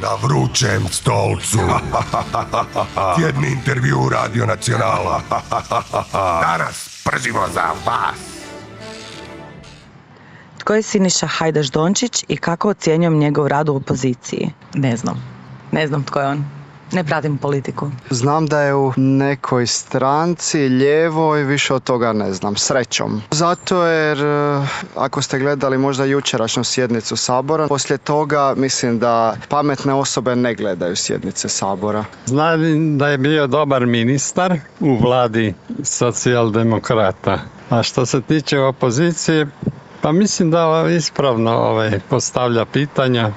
Na vrućem stolcu. Tjedni intervju Radio Nacionala. Danas pržimo za vas. Tko je Siniša Hajdaš Dončić i kako ocjenjujem njegov rad u opoziciji? Ne znam tko je on. Ne pratim politiku. Znam da je u nekoj stranci, lijevoj, više od toga ne znam, srećom. Zato jer, ako ste gledali možda jučerašnju sjednicu Sabora, poslije toga mislim da pametne osobe ne gledaju sjednice Sabora. Znam da je bio dobar ministar u vladi socijaldemokrata. A što se tiče opozicije, pa mislim da ispravno postavlja pitanja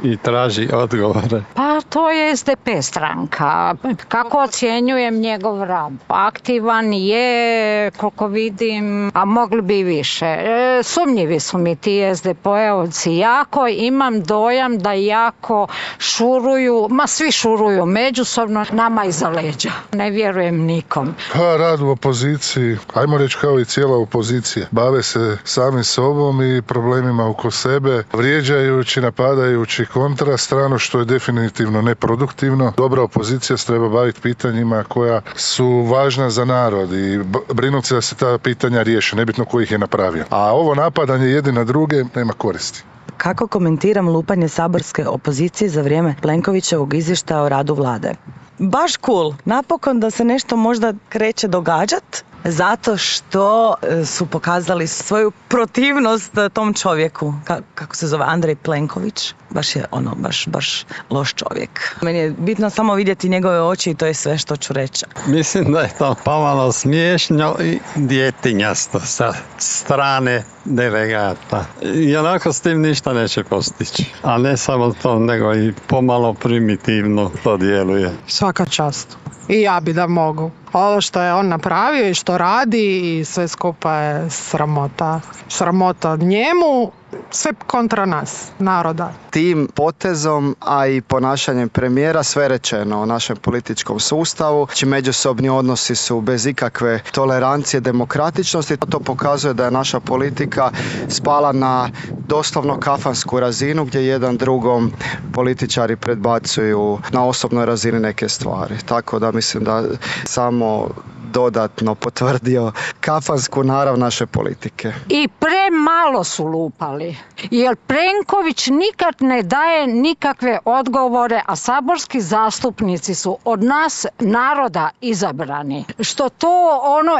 i traži odgovore. Pa to je SDP stranka. Kako ocjenjujem njegov rad? Aktivan je, koliko vidim, a mogli bi više. Sumnjivi su mi ti SDP-ovci jako. Imam dojam da jako šuruju, svi šuruju međusobno, nama iza leđa. Ne vjerujem nikom. Pa rad u opoziciji, ajmo reći kao i cijela opozicija. Bave se sami sobom i problemima oko sebe, vrijeđajući, napadajući kontra stranu, što je definitivno neproduktivno. Dobra opozicija se treba baviti pitanjima koja su važna za narod i brinuti se da se ta pitanja riješe, nebitno ko ih je napravio. A ovo napadanje jedni na druge nema koristi. Kako komentiram lupanje saborske opozicije za vrijeme Plenkovićevog izvještaja o radu vlade? Baš cool. Napokon da se nešto možda kreće događat, zato što su pokazali svoju protivnost tom čovjeku. Kako se zove? Andrej Plenković. Baš je baš loš čovjek. Meni je bitno samo vidjeti njegove oči i to je sve što ću reći. Mislim da je to pomalo smiješno i djetinjasto sa strane delegata. I onako s tim ništa neće postići. A ne samo to, nego i pomalo primitivno to djeluje. Svaka čast. I ja bi da mogu. Ovo što je on napravio i što radi i sve skupa je sramota. Sramota njemu, sve kontra nas, naroda. Tim potezom, a i ponašanjem premijera sve rečeno o našem političkom sustavu. Međusobni odnosi su bez ikakve tolerancije, demokratičnosti. To pokazuje da je naša politika spala na doslovno kafansku razinu gdje jedan drugom političari predbacuju na osobnoj razini neke stvari. Tako da mislim da samo dodatno potvrdio kafansku narav naše politike. I premalo su lupali, jer Plenković nikad ne daje nikakve odgovore, a saborski zastupnici su od nas, naroda, izabrani. Što to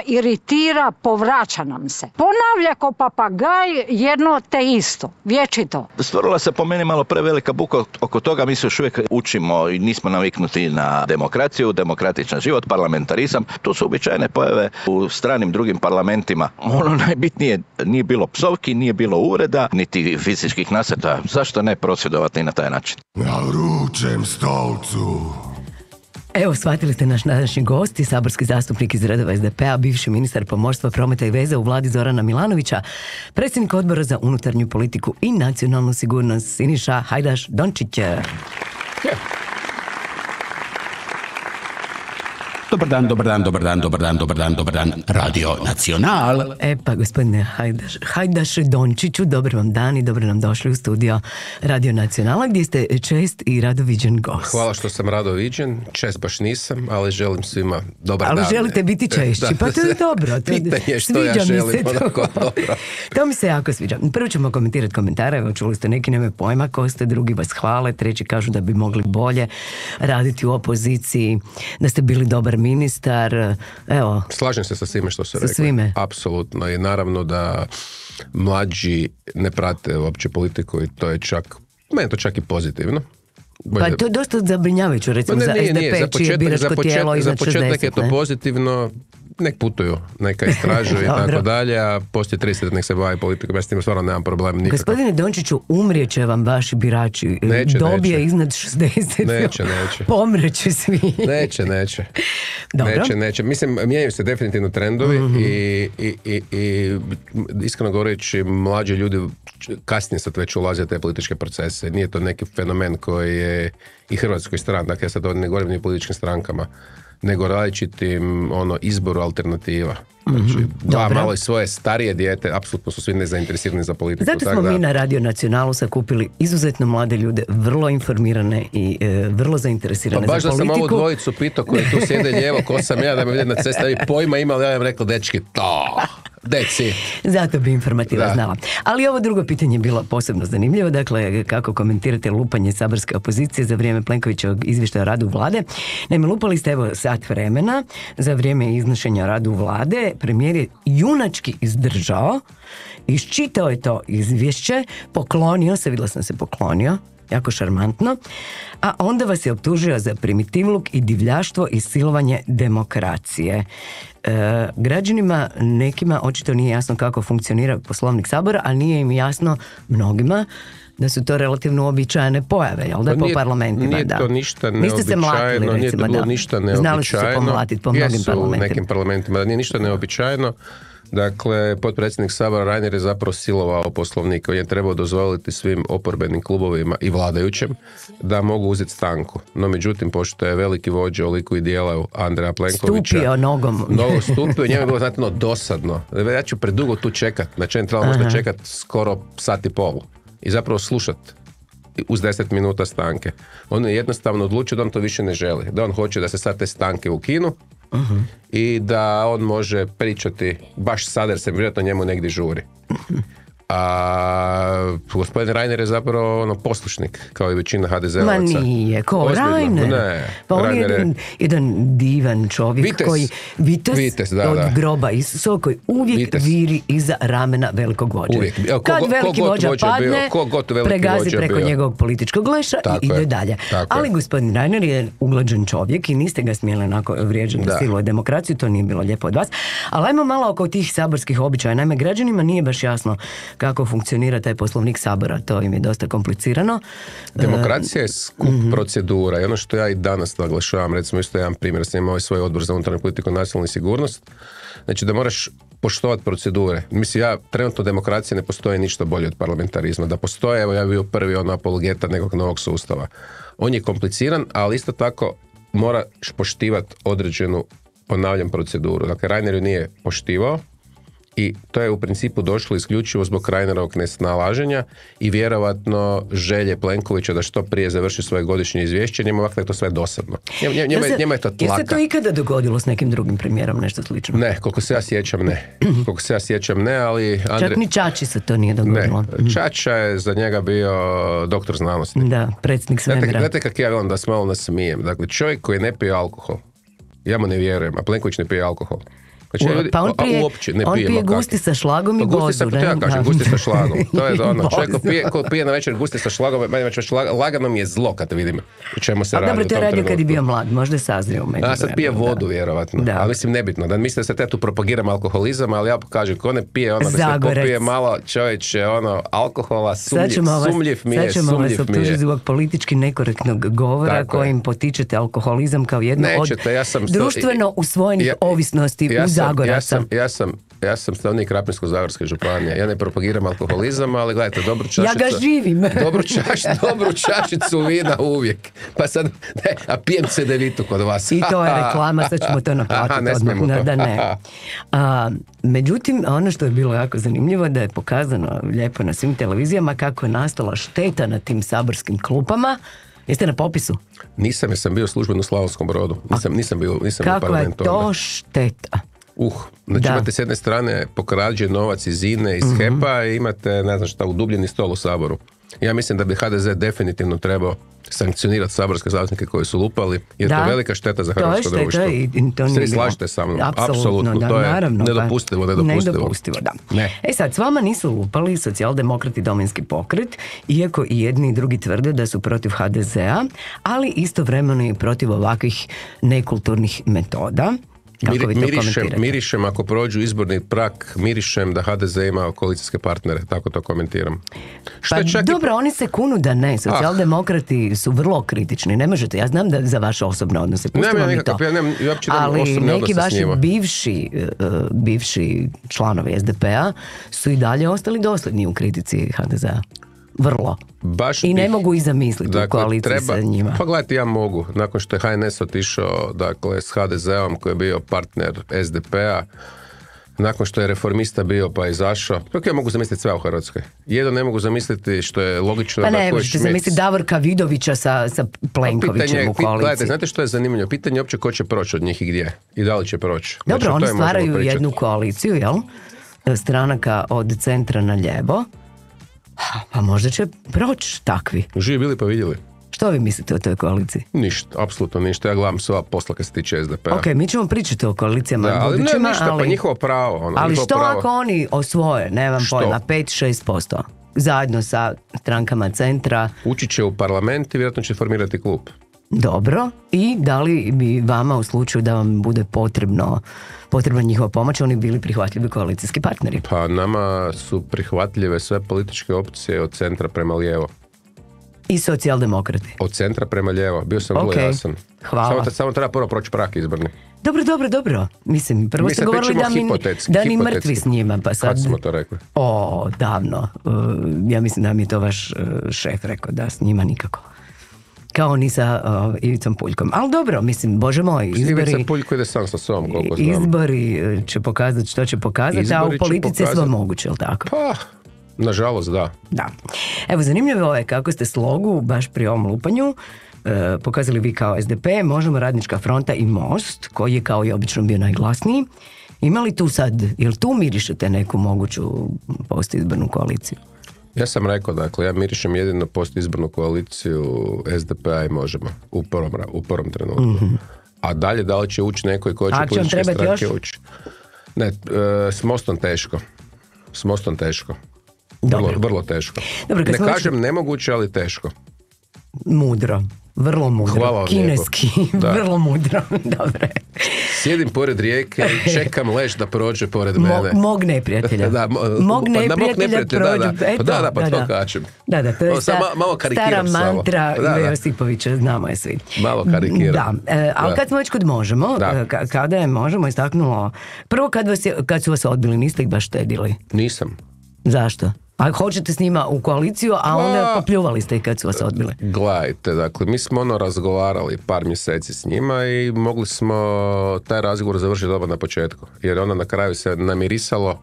iritira, povraća nam se. Ponavlja ko papagaj jedno te isto, vječito. Stvorila se po meni malo prevelika buka oko toga, mi se još uvijek učimo i nismo naviknuti na demokraciju, demokratičan život, parlamentarizam. Tu su uobičajene pojave u stranim drugim parlamentima. Ono najbitnije, nije bilo psovki, nije bilo uvreda, niti fizičkih nasrta. Zašto ne prosvjedovati na taj način? Na vrućem stolcu. Evo, shvatili ste naš današnji gost i saborski zastupnik iz redova SDP-a, bivši ministar pomorstva, prometa i veza u vladi Zorana Milanovića, predsjednik odbora za unutarnju politiku i nacionalnu sigurnost Siniša Hajdaš Dončić. Dobar dan, Radio Nacional. E pa, gospodine Hajdaš Dončiću, dobar vam dan i dobro nam došli u studio Radio Nacionala, gdje ste čest i rado viđen gost. Hvala što sam rado viđen, čest baš nisam, ali želim svima dobar dan. Ali želite biti češći, pa to je dobro. Pitanje što ja želim, onako dobro. To mi se jako sviđa. Prvo ćemo komentirati komentare, evo čuli ste, neki nemaju pojma ko ste, drugi vas hvale, treći kažu da bi mogli bolje raditi u opoziciji, da ste bili dobar ministar, evo. Slažem se sa svime što se rekli. Sa svime. Apsolutno. I naravno da mlađi ne prate uopće politiku i to je čak, meni to čak i pozitivno. Pa to je dosta zabrinjavajuće, recimo za SDP, čije biračko tijelo iznad 60. Za početak je to pozitivno, nek putuju, neka istražuju i tako dalje, a poslije 30 nek se bavi politikom, ja s tim stvarno nemam problem nikakav. Gospodine Dončiću, umrijeće vam vaši birači, dobije iznad 60. Neće. Pomrijeće svi. Neće. Mislim, mijenjaju se definitivno trendovi i iskreno govoreći, mlađi ljudi kasnije sad već ulaze u te političke procese. Nije to neki fenomen koji je i Hrvatskoj strani, dakle ja sad ne govorim ni o političkim strankama, nego različitim izboru alternativa. Znači, dva dobro. malo i svoje starije dijete, apsolutno su svi nezainteresirani za politiku. Zato smo mi na Radio Nacionalu sakupili izuzetno mlade ljude, vrlo informirane i vrlo zainteresirane za politiku. Baš da sam ovu dvojicu pitao koji tu sjede lijevo, ko sam ja, da me vidi na cesti, da bi pojma imali, ja im rekao, dečki, deci. Zato bi informativa znala. Ali ovo drugo pitanje je bilo posebno zanimljivo. Dakle, kako komentirate lupanje saborske opozicije za vrijeme Plenkovićevog izvještaja o radu vlade? Naime, lupali ste evo sat vremena za vrijeme iznošenja o radu vlade. Premijer je junački izdržao, iščitao je to izvješće, poklonio se, vidjela sam se poklonio, jako šarmantno, a onda vas je optužio za primitivluk i divljaštvo i silovanje demokracije. Građanima nekima očito nije jasno kako funkcionira Poslovnik Sabora, a nije im jasno mnogima da su to relativno uobičajene pojave, jel da, po parlamentima. Nije to ništa neobičajno. Niste se mlatili, recimo, nije to bilo ništa neobičajno. Znali su se pomlatiti po mnogim parlamentima. U nekim parlamentima, da nije ništa neobičajno. Dakle, potpredsjednik Sabora Reiner je zapravo silovao Poslovnik. On je trebao dozvoliti svim oporbenim klubovima i vladajućem da mogu uzeti stanku. No, međutim, pošto je veliki vođa u liku i dijelu Andreja Plenkovića... Stupio nogom. Stupio, njemu je bilo znatno dosadno. Ja ću predugo tu čekat, znači je trebalo možda čekat skoro sat i pol. I zapravo slušat uz 10 minuta stanke. On je jednostavno odlučio da on to više ne želi. Da on hoće da se sad te stanke ukinu i da on može pričati baš sad jer se vjerojatno njemu negdje žuri. A gospodin Reiner je zapravo poslušnik, kao i većina HDZ-ovaca. Ma nije, ko Reiner? Ne, pa on je jedan divan čovjek, Vitez. koji Vitez od groba Isusa, koji uvijek viri iza ramena velikog vođa. Kad veliki vođa padne, pregazi preko njegovog političkog leša i ide dalje. Ali gospodin Reiner je uglađen čovjek i niste ga smjeli onako vrijeđati da siluje demokraciju, to nije bilo lijepo od vas. Ali ajmo malo oko tih saborskih običaja. Naime, građanima nije baš jasno kako funkcionira taj Poslovnik Sabora, to im je dosta komplicirano. Demokracija je skup procedura i ono što ja i danas naglašavam, recimo isto jedan primjer, sam imao svoj odbor za unutarnju politiku i nacionalnu sigurnost, znači da moraš poštovati procedure. Mislim, trenutno demokracije ne postoji ništa bolje od parlamentarizma. Da postoje, evo ja bio prvi apologeta nekog novog sustava. On je kompliciran, ali isto tako moraš poštivati određenu, ponavljam, proceduru. Dakle, Reiner ju nije poštivao, i to je u principu došlo isključivo zbog Reinerovog nesnalaženja i vjerovatno želje Plenkovića da što prije završi svoje godišnje izvješće, njemu ovako je to sve dosadno. Njema je to tlaka. Je se to ikada dogodilo s nekim drugim premijerom, nešto slično? Ne, koliko se ja sjećam ne. Ali čak ni Čači se to nije dogodilo. Ne, Čača je za njega bio doktor znanosti. Da, predsjednik svemira. Znate kak ja volim da se malo nasmijem. Dakle, čovjek koji ne pije alkohol, ja mu ne vjerujem, a Plenković ne pije alkohol. Znači, ljudi, pa on pije gusti sa šlagom i vodu. To ja kažem, gusti sa šlagom. To je ono, čovjek ko pije na večer gusti sa šlagom, lagano mi je zlo kad vidim u čemu se radi u tom trenutku. Dobro, to je radio kad je bio mlad, možda je sazrio u međuvremenu. Sad pije vodu, vjerovatno. Ali mislim, nebitno. Da mislim da se ja tu propagiram alkoholizam, ali ja kažem, ko ne pije da se popije malo čovječe, alkohola, sumljiv mi je. Sad ćemo vas optužiti zbog politički nekorektnog govora kojim potičete alkoholizam kao jedno od društveno usvojenih ovisnosti u Zagoraca. Ja sam stanovnik Krapinsko-zagorske županije. Ja ne propagiram alkoholizam, ali gledajte, dobru čašicu... Ja ga živim. Dobru čašicu vina uvijek. Pa sad, a pijem cedevitu kod vas. I to je reklama, sad ćemo to naplatiti odmah. Da ne. Međutim, ono što je bilo jako zanimljivo da je pokazano lijepo na svim televizijama kako je nastala šteta na tim saborskim klupama. Jeste na popisu? Nisam, jer sam bio službeno u Slavonskom Brodu. Nisam bio u parlamentu. Kako je to šteta? Znači imate s jedne strane pokrađen novac iz INE, iz HEP-a i imate, ne znam šta, udubljeni stol u Saboru. Ja mislim da bi HDZ definitivno trebao sankcionirati saborske zastupnike koji su lupali, jer to je velika šteta za hrvatsko društvo. Svi slažete sa mnom. Apsolutno, to je nedopustivo. Sad, s vama nisu lupali Socijaldemokrati, Domovinski pokret, iako i jedni i drugi tvrde da su protiv HDZ-a, ali istovremeno i protiv ovakvih nekulturnih metoda. Mirišem, ako prođu izborni prag, mirišem da HDZ ima koalicijske partnere, tako to komentiram. Dobro, oni se kunu da ne, socijaldemokrati su vrlo kritični, ne možete, ja znam da za vaše osobne odnose, pustimo mi to, ali neki vaši bivši članovi SDP-a su i dalje ostali dosljedni u kritici HDZ-a. Vrlo. I ne mogu i zamisliti u koaliciji sa njima. Pa gledajte, ja mogu. Nakon što je HNS otišao s HDZ-om koji je bio partner SDP-a, nakon što je reformista bio pa izašao. Kako ja mogu zamisliti sve u Hrvatskoj? Jedno ne mogu zamisliti što je logično pa da... Pa ne, možete zamisliti Davorka Vidovića sa Plenkovićem u koaliciji. Gledajte, znate što je zanimljivo? Pitanje je uopće ko će proći od njih i gdje. I da li će proći. Dobro, znači, oni stvaraju jednu koaliciju, jel? Stranaka od centra na lijevo. Pa možda će proći takvi. Živi bili pa vidjeli. Što vi mislite o toj koaliciji? Ništa, apsolutno ništa. Ja gledam sva posla kad se tiče SDP-a. Ok, mi ćemo pričati o koalicijama budućima, ne, ništa, pa njihovo pravo. Ali što ako oni osvoje, nemam pojma, 5-6%, zajedno sa strankama centra? Ući će u parlament i vjerojatno će formirati klub. Dobro, i da li bi vama u slučaju da vam bude potrebna njihova pomoć, oni bili prihvatljivi koalicijski partneri? Pa nama su prihvatljive sve političke opcije od centra prema lijevo. I socijaldemokrati. Od centra prema lijevo, bio sam vrlo jasan. Hvala. Samo treba prvo proći prag izborni. Dobro. Mislim, prvo ste govorili da ni mrtvi s njima, pa sad... Kad smo to rekli? Davno. Ja mislim da mi je to vaš šef rekao, da s njima nikako. Kao ni sa Ivicom Puljkom. Ali dobro, mislim, bože moj, izbori... Ivica Puljko ide sam sa sobom, koliko znam. Izbori će pokazati što će pokazati, a u politici je sve moguće, jel tako? Pa... Nažalost, da. Da. Evo, zanimljivo je kako ste slogu, baš pri ovom lupanju, pokazali vi kao SDP, Možemo, Radnička fronta i Most, koji je kao i obično bio najglasniji. Ima li tu sad, jel tu mirišete neku moguću postizbornu koaliciju? Ja sam rekao, dakle, ja mirišem jedino postizbornu koaliciju SDP-a i Možemo u prvom trenutku. Mm-hmm. A dalje, da li će ući neko i koje će političke stranke ući? Ne, s Mostom teško. Vrlo teško. Dobro, ne kažem nemoguće, ali teško. Mudro. Vrlo mudro. Hvala kineski. Vrlo mudro. Dobre. Sjedim pored rijeke i čekam leš da prođe pored mene. Mog neprijatelja. Mog neprijatelja prođe. Pa to kažem. Da, to je stara mantra Ive Josipovića, znamo je svi. Malo karikiram. Ali kad smo već kod Možemo, kada je Možemo istaknulo, prvo kad su vas odbili, niste ih baš štedili? Nisam. Zašto? A hoćete s njima u koaliciju, a onda popljuvali ste ih kad su vas odbili. Gledajte, dakle, mi smo razgovarali par mjeseci s njima i mogli smo taj razgovor završiti dobro na početku. Jer onda na kraju se namirisalo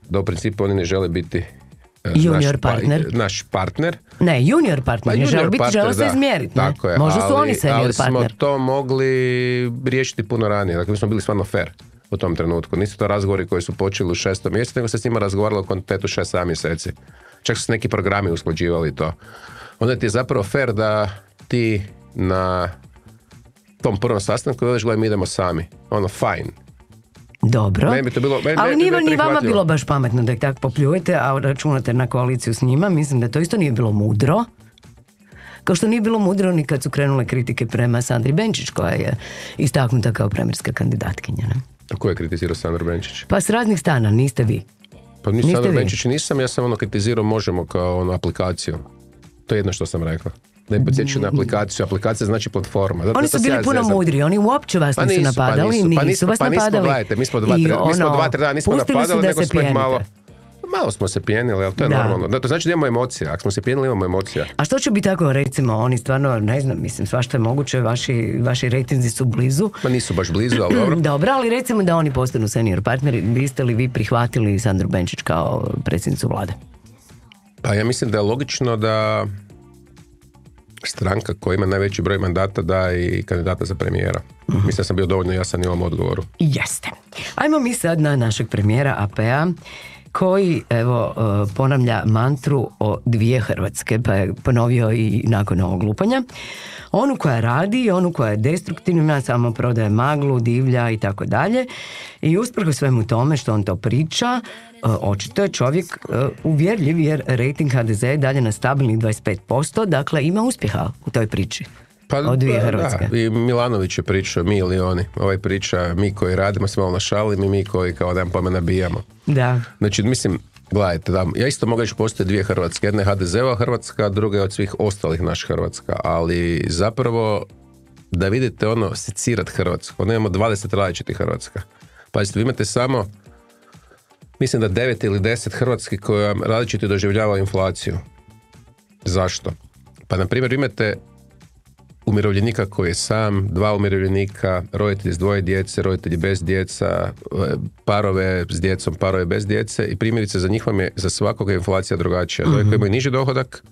da u principu oni ne žele biti naš partner. Ne, junior partner, ne žele biti, žele se izmjeriti. Tako je, možda su oni senior partner. Ali smo to mogli riješiti puno ranije. Dakle, mi smo bili stvarno fair u tom trenutku. Nisu to razgovori koji su počeli u 6. mjesecu, nego se s njima razgovaralo u kontinuitetu 6-7 mjeseci. Čak su se neki programi usklađivali to. Onda ti je zapravo fair da ti na tom prvom sastanku veliš, gledaj, mi idemo sami. Fine. Dobro, meni bi to bilo, ali nije ni vama bilo baš pametno da ih tako popljujete, a računate na koaliciju s njima. Mislim da to isto nije bilo mudro. Kao što nije bilo mudro ni kad su krenule kritike prema Sandri Benčić, koja je istaknuta kao premijerska kandidatkinja. Ne? A ko je kritizirao Sandru Benčić? Pa s raznih strana, niste vi. Pa ni Sandru Benčić nisam, ja sam kritizirao Možemo kao aplikaciju. To je jedno što sam rekao. Da je podsjećao na aplikaciju. Aplikacija znači platforma. Oni su bili puno mudri, oni uopće vas nisu napadali, nisu vas napadali. Gledajte, mi smo 2-3 dana nismo napadali, nego smo ih malo smo se pijenili, ali to je normalno. To znači da imamo emocija. Ako smo se pijenili, imamo emocija. A što će biti tako, recimo, oni stvarno, ne znam, mislim, svašta je moguće, vaši rejtinzi su blizu. Pa nisu baš blizu, ali dobro. Dobro, ali recimo da oni postanu senior partneri, biste li vi prihvatili Sandru Benčić kao predsjednicu vlade? Pa ja mislim da je logično da stranka koja ima najveći broj mandata da i kandidata za premijera. Mislim da sam bio dovoljno jasan i u ovom odgovoru. Jeste. Ajmo mi sad na našeg premijera AP-a, koji, evo, ponavlja mantru o 2 Hrvatske, pa je ponovio i nakon ovog lupanja. Onu koja radi, onu koja je destruktivna, samo prodaje maglu, divlja i tako dalje. I usprkos svemu tome što on to priča, očito je čovjek uvjerljiv, jer rejting HDZ je dalje na stabilnih 25%, dakle ima uspjeha u toj priči. Pa, od 2 Hrvatske. Da, i Milanović je pričao, mi ili oni. Ovaj priča, mi koji radimo se malo našalim i mi koji kao dan pojme nabijamo. Da. Znači, mislim, gledajte, da, ja isto mogu reći postoje 2 Hrvatske. Jedna je HDZ-ova Hrvatska, druga je od svih ostalih naš Hrvatska. Ali zapravo, da vidite secirat Hrvatsku. Ono imamo 20 različitih Hrvatska. Pazite, vi imate samo, mislim da 9 ili 10 Hrvatski koji različito doživljavaju inflaciju. Zašto? Pa, na primjer, imate umirovljenika koji je sam, 2 umirovljenika, roditelji s 2 djece, roditelji bez djeca, parove s djecom, parove bez djece i primjerice za njih vam je za svakoga inflacija drugačija. Za koji imaju niži dohodak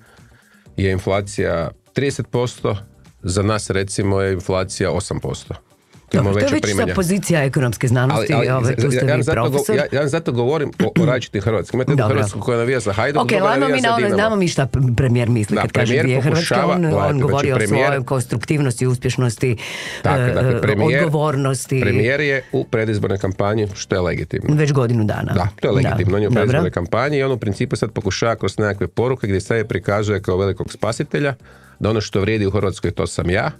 je inflacija 30%, za nas recimo je inflacija 8%. Dobro, to je već sa pozicija ekonomske znanosti, tu ste vi profesor. Ja zato govorim o različitim Hrvatskoj. Imate jednu Hrvatsku koja navija za Hajduk, druga navija za Dinamo. Znamo mi šta premijer misli kad kaže gdje je Hrvatska, on govori o svojoj konstruktivnosti, uspješnosti, odgovornosti. Premijer je u predizbornoj kampanji, što je legitimno. Već godinu dana. Da, to je legitimno. On je u predizbornoj kampanji i on u principu sad pokušava kroz nekakve poruke gdje se prikazuje kao velikog spasitelja, da ono što vrijedi u Hrvatskoj to sam ja,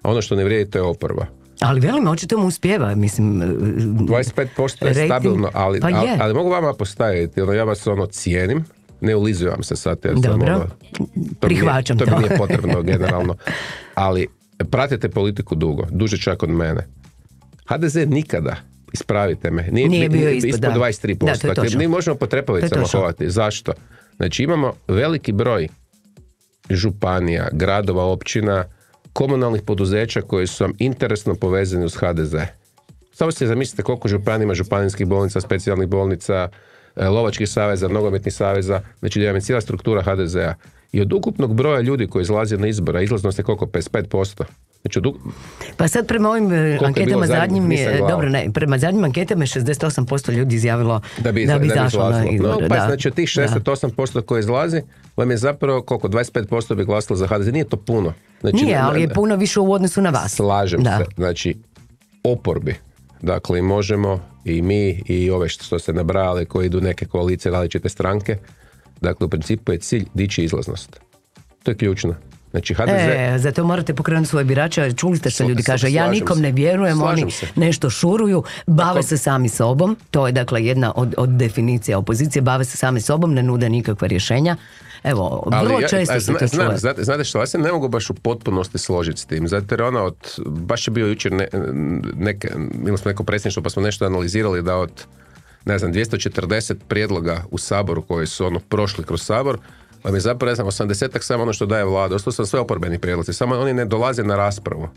a ono što ne vrijedi to je oporba. Ali velim, očito mu uspijeva, mislim... 25% je stabilno, ali mogu vama postaviti, ja vas cijenim, ne ulizujem se sad, jer dobro, prihvaćam to. To mi nije potrebno generalno, ali pratite politiku duže čak od mene. HDZ nikada, ispravite me, nije bio ispod 23%. Da, to je točno. Mi možemo po trepavicama hovati. Zašto? Znači imamo veliki broj županija, gradova, općina, komunalnih poduzeća koji su vam interesno povezani uz HDZ. Samo se zamislite koliko županija ima županijskih bolnica, specijalnih bolnica, lovačkih saveza, nogometnih saveza, znači da je cijela struktura HDZ-a. I od ukupnog broja ljudi koji izlaze na izbora, izlaznost je koliko? 55%. Znači pa sad prema ovim anketama zadnjim je, dobro ne, prema zadnjim anketama je 68% ljudi izjavilo da bi izašlo na izbore. Znači od tih 68% koji izlazi, vam je zapravo koliko? 25% bi glasilo za HDZ. Nije to puno. Znači, nije, ali je puno više u odnosu na vas. Slažem se. Znači, oporbi. Dakle, možemo i mi i ove što ste nabrali koji idu neke koalicije, različite stranke. Dakle, u principu je cilj dići izlaznost. To je ključno. Znači HDZ... zato morate pokrenuti svoje birače. Čuli ste što ljudi kaže, ja nikom ne vjerujem, oni nešto šuruju, bave se sami sobom. To je dakle jedna od definicija opozicije, bave se sami sobom, ne nude nikakva rješenja. Evo, vrlo često se to čuje. Znate što, ja se ne mogu baš u potpunosti složiti s tim, zato jer baš je bio jučer imali smo neko predsjedništvo pa smo nešto analizirali da od 240 prijedloga u Saboru koji su prošli kroz Sabor, vam je zapravo, 80-ak samo ono što daje vlada, ostalo su sve oporbeni prijedlozi, samo oni ne dolaze na raspravu.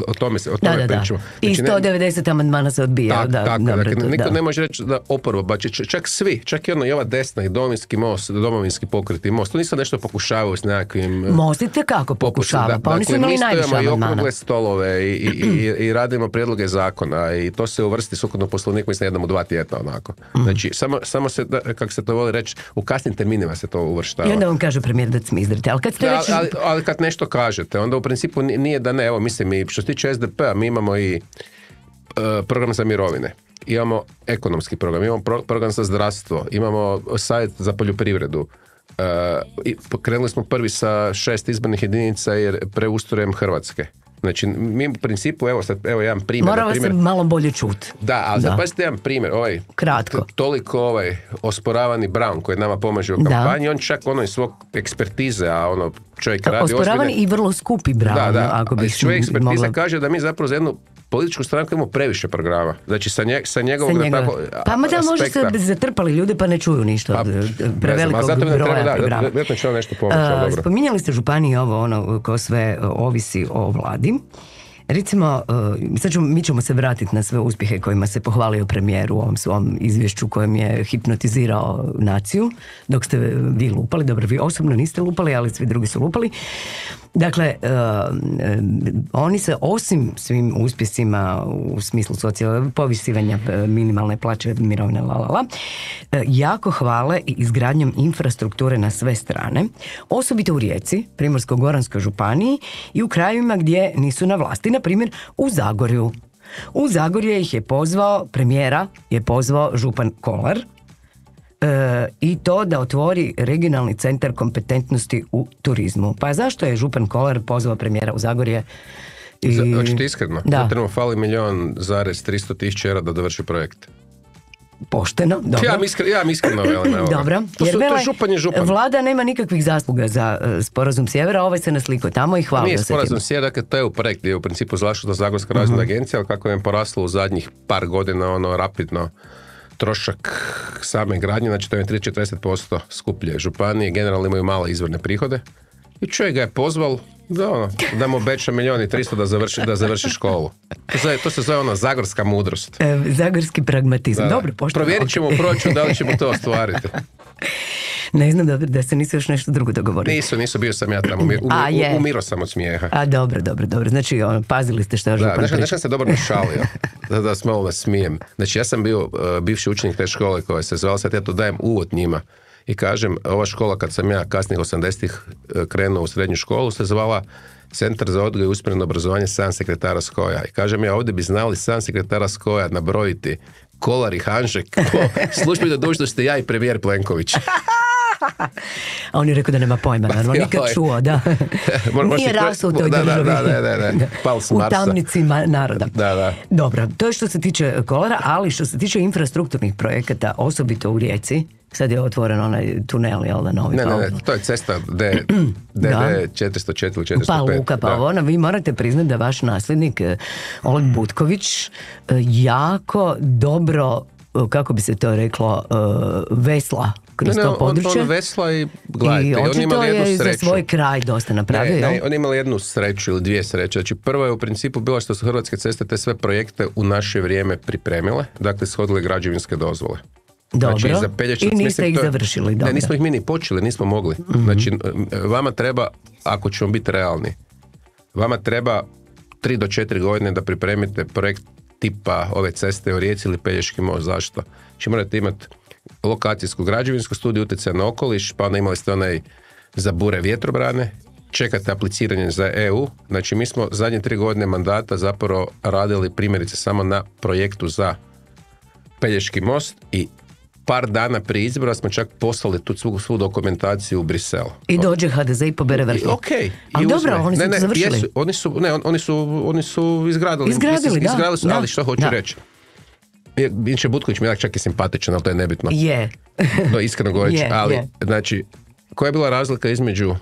O tome pričamo. I 190 amandmana se odbija. Niko ne može reći da oporba, čak svi, čak i ova desna i Domovinski most, Domovinski pokret i Most, to nisu nešto pokušavaju s nekakvim... Most i tekako pokušava, pa oni su imali najviše amandmana. Mi okrugle stolove i radimo prijedloge zakona i to se uvrsti sukladno poslovniku, mislim jednom u 2 tjedna onako. Znači, samo se, kako se to voli reći, u kasnim terminima se to uvrštava. Da vam kaže premijer da smizdrite, ali kad ste reći... ali kad nešto kažete, onda u principu nije da ne, evo mislim i što se tiče SDP-a, mi imamo i program za mirovine, imamo ekonomski program, imamo program za zdravstvo, imamo savjet za poljoprivredu, krenuli smo prvi sa 6 izbornih jedinica jer preustrojem Hrvatske. Znači, mi u principu, evo jedan primjer. Moramo se malo bolje čuti. Da, ali sad pazite jedan primjer, kratko. Toliko osporavani Brown koji nama pomaže u kampanji, on čak iz svog ekspertize, a čovjek radi osporavani i vrlo skupi Brown. Ako bi čovjek ekspertize kaže da mi zapravo za jednu političku stranku imamo previše programa. Znači sa njegovog tako pa možda ste zatrpali ljude pa ne čuju ništa prevelikog broja programa. Spominjali ste županiji ko sve ovisi o vladi. Recimo, mi ćemo se vratiti na sve uspjehe kojima se pohvalio premijer u ovom svom izvješću kojem je hipnotizirao naciju, dok ste vi lupali, dobro, vi osobno niste lupali, ali svi drugi su lupali. Dakle, oni se osim svim uspjesima u smislu povisivanja minimalne plaće, mirovine, jako hvale i izgradnjom infrastrukture na sve strane, osobito u Rijeci, Primorsko-goranskoj županiji i u krajevima gdje nisu na vlasti, na primjer u Zagorju. U Zagorje ih je pozvao, premijera je pozvao župan Kolar, i to da otvori regionalni centar kompetentnosti u turizmu. Pa zašto je župan Kolar pozvao premijera u Zagorje? Hoćete iskreno? Da. Trebamo fali 1.300.000 eura da dovrši projekt. Pošteno, dobro. Ja iskreno velim. Dobro, jer župan. Vlada nema nikakvih zasluga za sporazum sjevera, ovaj se naslikao tamo i hvala. Nije sporazum sjevera, dakle to je u projekt gdje je u principu zaštita Zagorska razvojna agencija, ali kako je poraslo u zadnjih par godina rapidno trošak same gradnje, znači to je 30-40% skuplje. Županije generalno imaju male izvorne prihode i čovjek ga je pozval Da mu obeća 1.300.000 da završi školu. To se zove ono zagorska mudrost. Zagorski pragmatizam. Dobro, pošteno. Provjerit ćemo u proračunu da li ćemo to ostvariti. Ne znam da se nisu još nešto drugo dogovorili. Nisu, bio sam ja tamo, umiro sam od smijeha. A dobro. Znači, pazili ste što je župan priča. Znaš se dobro našalio, da se malo smijem. Znači, ja sam bio bivši učenik te škole koja se zvala, sad ja to dajem uvod njima. I kažem, ova škola kad sam ja kasnih 80-ih krenuo u srednju školu se zvala Centar za odgoj i usmjereno obrazovanje 7 sekretara Skoja. I kažem ja, ovdje bi znali 7 sekretara Skoja nabrojiti Kolar i Hanžek po službenoj dužnosti ja i premijer Plenković. A on je rekao da nema pojma, naravno, nikad čuo, da. Nije rasao u toj državi. Da. Pal s Marsa. U tamnici naroda. Da. Dobro, to je što se tiče Kolara, ali što se tiče infrastrukturnih projekata, osobito u Rijeci, sad je otvoren onaj tunel, jel da, novi? Ne, to je cesta DD 404 ili 405. Pa Luka, pa ono, vi morate priznati da vaš nasljednik Oleg Butković jako dobro, kako bi se to reklo, vesla kroz to područje. On vesla i gledajte. I očito je za svoj kraj dosta napravio. Ne, on imali jednu sreću ili dvije sreće. Znači prvo je u principu bilo što su Hrvatske ceste te sve projekte u naše vrijeme pripremile, dakle shodile građevinske dozvole. Dobro, znači, za Pelješac, i niste ih završili, dobro. Ne, nismo ih mi ni počeli, nismo mogli. Znači, vama treba, ako ćemo biti realni, vama treba 3 do 4 godine da pripremite projekt tipa ove ceste u Rijeci ili Pelješki most. Zašto? Znači, morate imati lokacijsku građevinsku studiju utjecaja na okoliš, pa onda imali ste onaj za bure vjetrobrane, čekate apliciranje za EU. Znači, mi smo zadnje 3 godine mandata zapravo radili primjerice samo na projektu za Pelješki most i par dana prije izbora smo čak poslali tu svu dokumentaciju u Brisel. I dođe HDZ i pobere vrh. Okej. Ali dobro, oni su završili. Oni su izgradili. Izgradili su, ali što hoću reći. Inače Butković mi je čak i simpatičan, ali to je nebitno. Je. No, iskreno govoreći. Ali, znači, koja je bila razlika između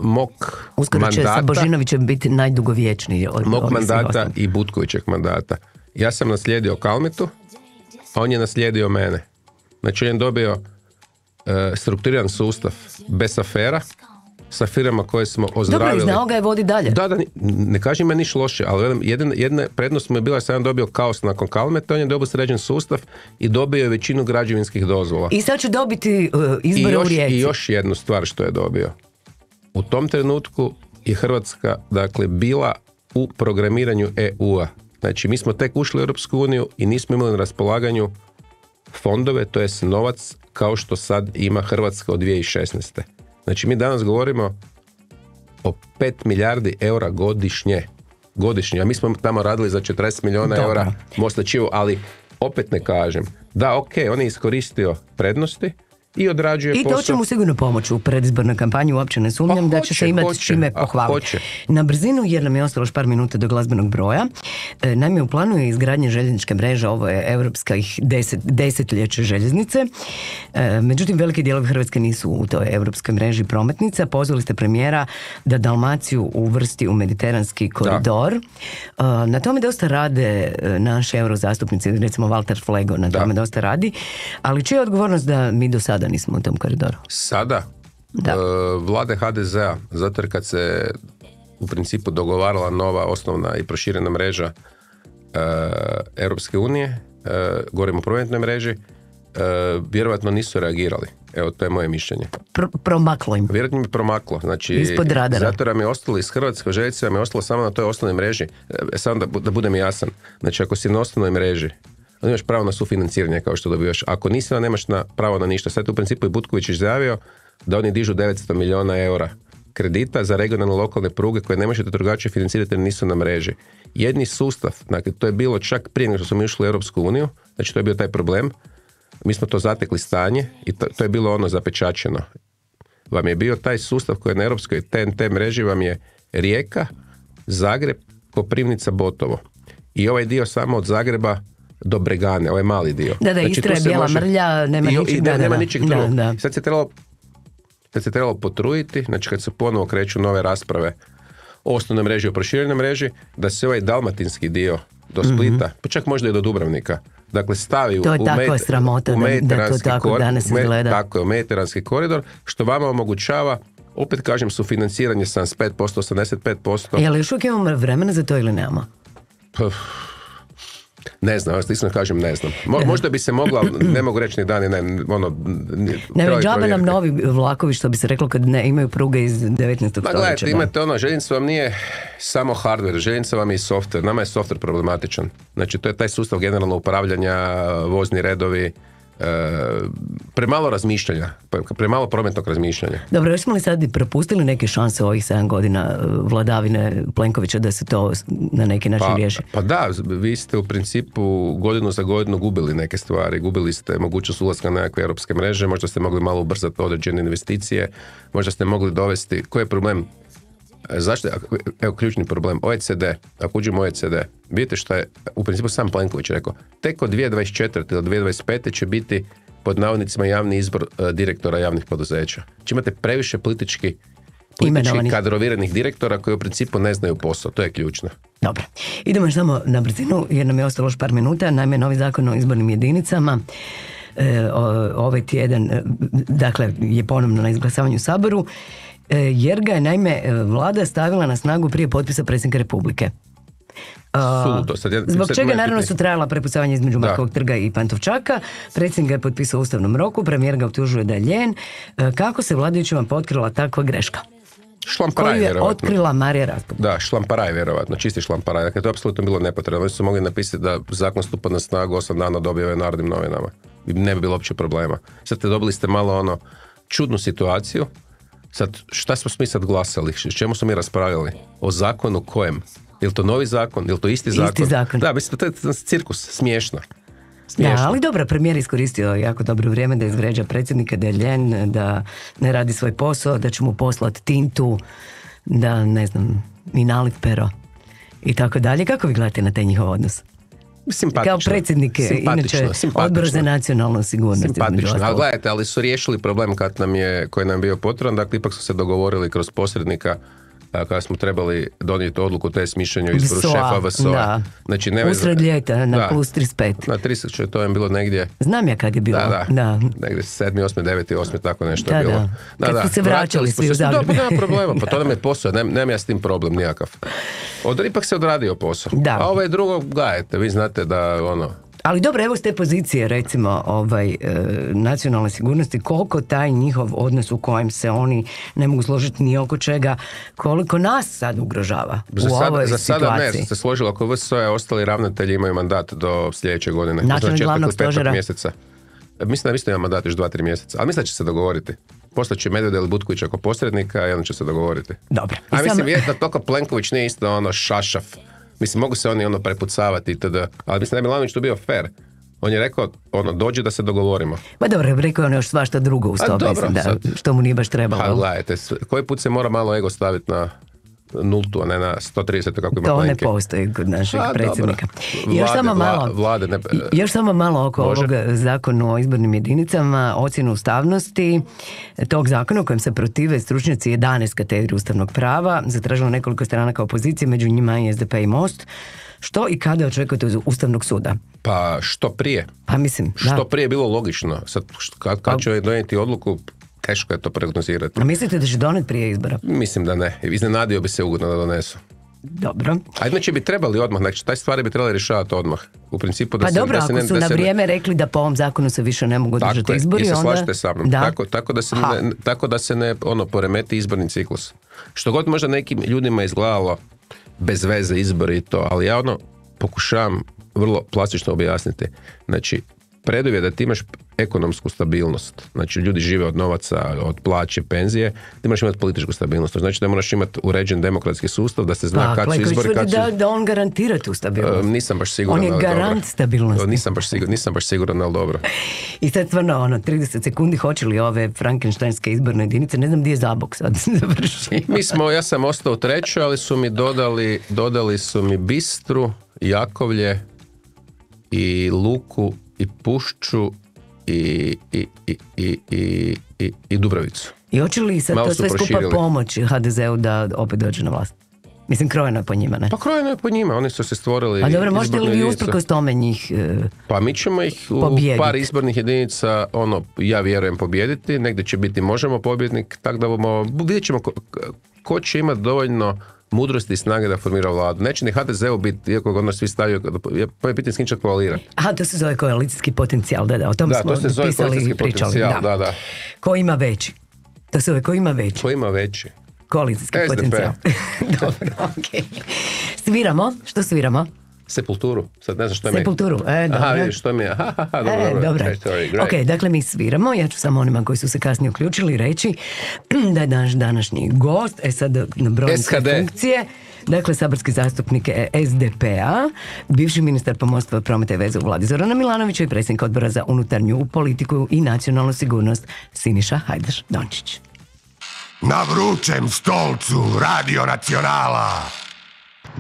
mog uskoro mandata... će sa Božinovićem biti najdugovječniji od mog mandata i Butkovićeg mandata. Ja sam naslijedio Kalmetu, a on je naslijedio mene. Znači, on je dobio strukturiran sustav bez afera, sa firama koje smo ozdravili. Dobro, i znao ga je vodi dalje. Da, ne kažem me niš loše, ali jedna prednost mu je bila da sam dobio kaos nakon Kalmeta, on je dobio sređen sustav i dobio je većinu građevinskih dozvola. I sad će dobiti izbore u Rijeci. I još jednu stvar što je dobio. U tom trenutku je Hrvatska, dakle, bila u programiranju EU-a. Znači, mi smo tek ušli u Europsku uniju i nismo imali na raspolaganju fondove, to jest novac, kao što sad ima Hrvatska od 2016. Znači, mi danas govorimo o 5 milijardi eura godišnje. A mi smo tamo radili za 40 milijuna eura mosta Čivu, ali opet ne kažem. Da, on je iskoristio prednosti i odrađuje posao. I to će mu sigurno pomoći u predizbornoj kampanji, uopće ne sumnjam da će se imati čime pohvaliti. Na brzinu, jer nam je ostalo još par minuta do glazbenog broja, naime u planu je izgradnje željezničke mreže, ovo je europskih desetljeće željeznice, međutim veliki dijelovi Hrvatske nisu u toj europskoj mreži prometnica. Pozvali ste premijera da Dalmaciju uvrsti u mediteranski koridor. Na tome dosta rade naši eurozastupnici, recimo Walter Flego na tome dosta radi, ali čija je odgovornost da mi do sada nismo u tom koridoru? Sada? Vlade HDZ-a, zato jer kad se u principu dogovarala nova osnovna i proširena mreža Europske unije, govorimo o prometnoj mreži, vjerojatno nisu reagirali. Evo, to je moje mišljenje. Promaklo im. Vjerojatno im je promaklo. Znači, ispod radara. Zato nam je ostalo iz Hrvatske željeznice, nam je ostalo samo na toj osnovnoj mreži. Samo da budem jasan. Znači, ako si na osnovnoj mreži, onda imaš pravo na sufinanciranje kao što dobivaš. Ako nisi, onda nemaš pravo na ništa. Sad u principu je Butković izjavio da oni dižu 900 milijuna eura kredita za regionalne lokalne pruge koje ne možete drugačije financirati jer nisu na mreži. Jedni sustav, dakle to je bilo čak prije nego što smo išli u Europsku uniju, znači to je bio taj problem. Mi smo to zatekli stanje i to je bilo ono zapečačeno. Vam je bio taj sustav koji je na europskoj TNT mreži, vam je Rijeka, Zagreb, Koprivnica, Botovo. I ovaj dio samo od Zagreba do Bregane, ovaj mali dio. Da, znači, Istra je bijela mrlja, nema ničeg. Nema ničeg drugog. Sad se trebalo potruditi, znači kad se ponovo kreću nove rasprave o osnovnoj mreži, o proširenoj mreži, da se ovaj dalmatinski dio do Splita, pa čak možda i do Dubrovnika, dakle stavi u mediteranski koridor, što vama omogućava Opet kažem, sufinanciranje 75%, 85%. Je li još uvijek imamo vremena za to ili nemamo? Ne znam, iskreno kažem, ne znam. Možda bi se mogla, ne mogu reći ni dan, Ne, džabe nam novi vlakovi, što bi se reklo kad ne imaju pruge iz 19. stoljeća. Gledajte, imate željeznica vam nije samo hardware, željeznica vam je i software. Nama je software problematičan. Znači, to je taj sustav generalno upravljanja, vozni redovi, premalo razmišljanja, premalo prometnog razmišljanja. Dobro, još smo li sad propustili neke šanse ovih 7 godina vladavine Plenkovića da se to na neki način riješi? Pa da, vi ste u principu godinu za godinu gubili neke stvari, gubili ste mogućnost ulaska na nekakve europske mreže, možda ste mogli malo ubrzati određene investicije, možda ste mogli dovesti, koji je problem? Zašto? Evo ključni problem, OECD, ako uđemo u OECD, vidite što je u principu sam Plenković rekao, tek od 2024. do 2025. će biti pod navodnicima javni izbor direktora javnih poduzeća. Či imate previše politički kadroviranih direktora koji u principu ne znaju posao, to je ključno. Dobro, idemo još samo na brzinu jer nam je ostalo još par minuta, naime novi zakon o izbornim jedinicama ovaj tjedan, dakle, je ponovno na izglasavanju u Saboru, jer ga je naime vlada stavila na snagu prije potpisa predsjednika Republike. Zbog čega naravno su trajala prepucavanja između Markovog trga i Pantovčaka. Predsjednik ga je potpisao u ustavnom roku, premijer ga optužuje da je ljen. Kako se vladajućima potkrila takva greška? Šlamparaj, koju je otkrila Marija Raspudić. Da, šlamparaj vjerovatno, čisti šlamparaj. Dakle, to je apsolutno bilo nepotrebno. Oni su mogli napisati da zakon stupa na snagu 8 dana od objave u Narodnim novinama. Ne bi bilo uopće problema. Sad dobili ste malo čudnu situaciju. Sad, šta smo mi sad glasali? Čemu smo mi raspravljali? O zakonu kojem? Je li to novi zakon? Je li to isti zakon? Isti zakon. Da, mislim, to je cirkus, smiješno. Da, ali dobro, premijer iskoristio jako dobro vrijeme da izvređa predsjednika, da je ljen, da ne radi svoj posao, da će mu poslati tintu, da, ne znam, i nalit pero i tako dalje. Kako vi gledate na taj njihov odnos? Simpatično. Kao predsjednik, inače, Odbor za nacionalnu sigurnost. Simpatično, ali gledajte, ali su riješili problem koji nam je bio potreban, dakle ipak su se dogovorili kroz posrednika kada smo trebali donijeti odluku to je mišljenje o izboru šefa VSO-a. Znači, usred ljeta na plus 35. Na 30, to je bilo negdje. Znam ja kad je bilo. Da. Negdje 7, 8, 9, 8, tako nešto je bilo. Kad su se vraćali svi u Zagreb. Da, nema problema, pa to nam je posao, nemam ja s tim problem nikakav. Ipak se odradio posao. Da. A ovo je drugo, gledajte, vi znate da Ali dobro, evo s te pozicije, recimo, nacionalne sigurnosti, koliko taj njihov odnos u kojem se oni ne mogu složiti ni oko čega, koliko nas sad ugrožava u ovoj situaciji. Za sada ne, se složilo oko VSO-a, ostali ravnatelji imaju mandat do sljedeće godine. Načelnik glavnog stožera. Mislim da ima mandat još 2-3 mjeseca, ali mislim da će se dogovoriti. Poslaće Medveda ili Butkovića ako posrednika i onda će se dogovoriti. Dobro. A mislim, da toliko Plenković nije isto šašav. Mislim, mogu se oni prepucavati itd. Ali mislim da je Milanović tu bio fair. On je rekao, dođe da se dogovorimo. Ma dobro, rekao on još svašta drugo uz to, mislim, što mu nije baš trebalo. A gledajte, koji put se mora malo ego staviti na nultu, a ne na 130, kako ima to Plenke. Ne postoji kod našeg predsjednika. Još samo malo oko ovog zakona o izbornim jedinicama, ocjenu ustavnosti tog zakona u kojem se protive stručnjaci 11 katedri ustavnog prava, zatražilo nekoliko stranaka opozicije, među njima i SDP i Most. Što i kada očekujete od Ustavnog suda? Pa što prije. Pa mislim, što prije bilo logično. Sad, kad će donijeti odluku, teško je to prognozirati. A mislite da će doneti prije izbora? Mislim da ne. Iznenadio bi se ugodno da donesu. Dobro. A inače bi trebali odmah, znači taj stvari bi trebali rješavati odmah. U principu da pa se... dobro, ako su na vrijeme rekli da po ovom zakonu se više ne mogu održati izbori, onda... Tako je, i se slažete sa mnom. Tako da se ne poremeti izborni ciklus. Što god možda nekim ljudima izgledalo bez veze izbori i to, ali ja pokušavam vrlo plastično objasniti. Znači, preduvjet je da ti imaš ekonomsku stabilnost. Znači, ljudi žive od novaca, od plaće, penzije, ti moraš imati političku stabilnost. Znači da moraš imati uređen demokratski sustav, da se zna kad su izbori, kad su... Da on garantira tu stabilnost. Nisam baš siguran, on je garant stabilnosti. Nisam baš siguran, ali dobro. I sad stvarno, 30 sekundi, hoće li ove frankenštajnske izborne jedinice, ne znam gdje je Zabok sad završi. Ja sam ostao u trećoj, ali su mi dodali su mi Bistru, Jakovlje i Luku i Pušću i Dubravicu. I hoće li sad to sve skupa pomoći HDZ-u da opet dođe na vlast? Mislim, krojeno je po njima, ne? Pa krojeno je po njima, oni su se stvorili... A dobro, možete li vi jedinice. usprkos tome njih Pa mi ćemo ih u pobijediti. par izbornih jedinica, ja vjerujem, pobijediti, negdje će biti Možemo pobjednik, tako da vidjet ćemo ko će imati dovoljno mudrosti i snage da formira vladu. Neće ni HDZ-u biti, iako ga ono svi stavio, pa je pitanje s kim će koalirati. Aha, to se zove koalicijski potencijal, da, o tom smo to se zove pisali i pričali. Potencijal, da. Ko ima veći? To se zove ko ima veći? Ko ima veći? Koalicijski SDP. potencijal. Dobro, okej. Sviramo? Što sviramo? Sepulturu. Sad ne znam što mi je. Sepulturu, dobro. Aha, vidiš, što mi je. Dobro. Ok, dakle mi sviramo. Ja ću samo onima koji su se kasnije uključili reći da je naš današnji gost, sad na brojnice funkcije, dakle saborski zastupnik SDP-a, bivši ministar pomorstva, prometa i veze u vladi Zorana Milanovića i predsjednik odbora za unutarnju politiku i nacionalnu sigurnost Siniša Hajdaš Dončić. Na vrućem stolcu Radio Nacionala.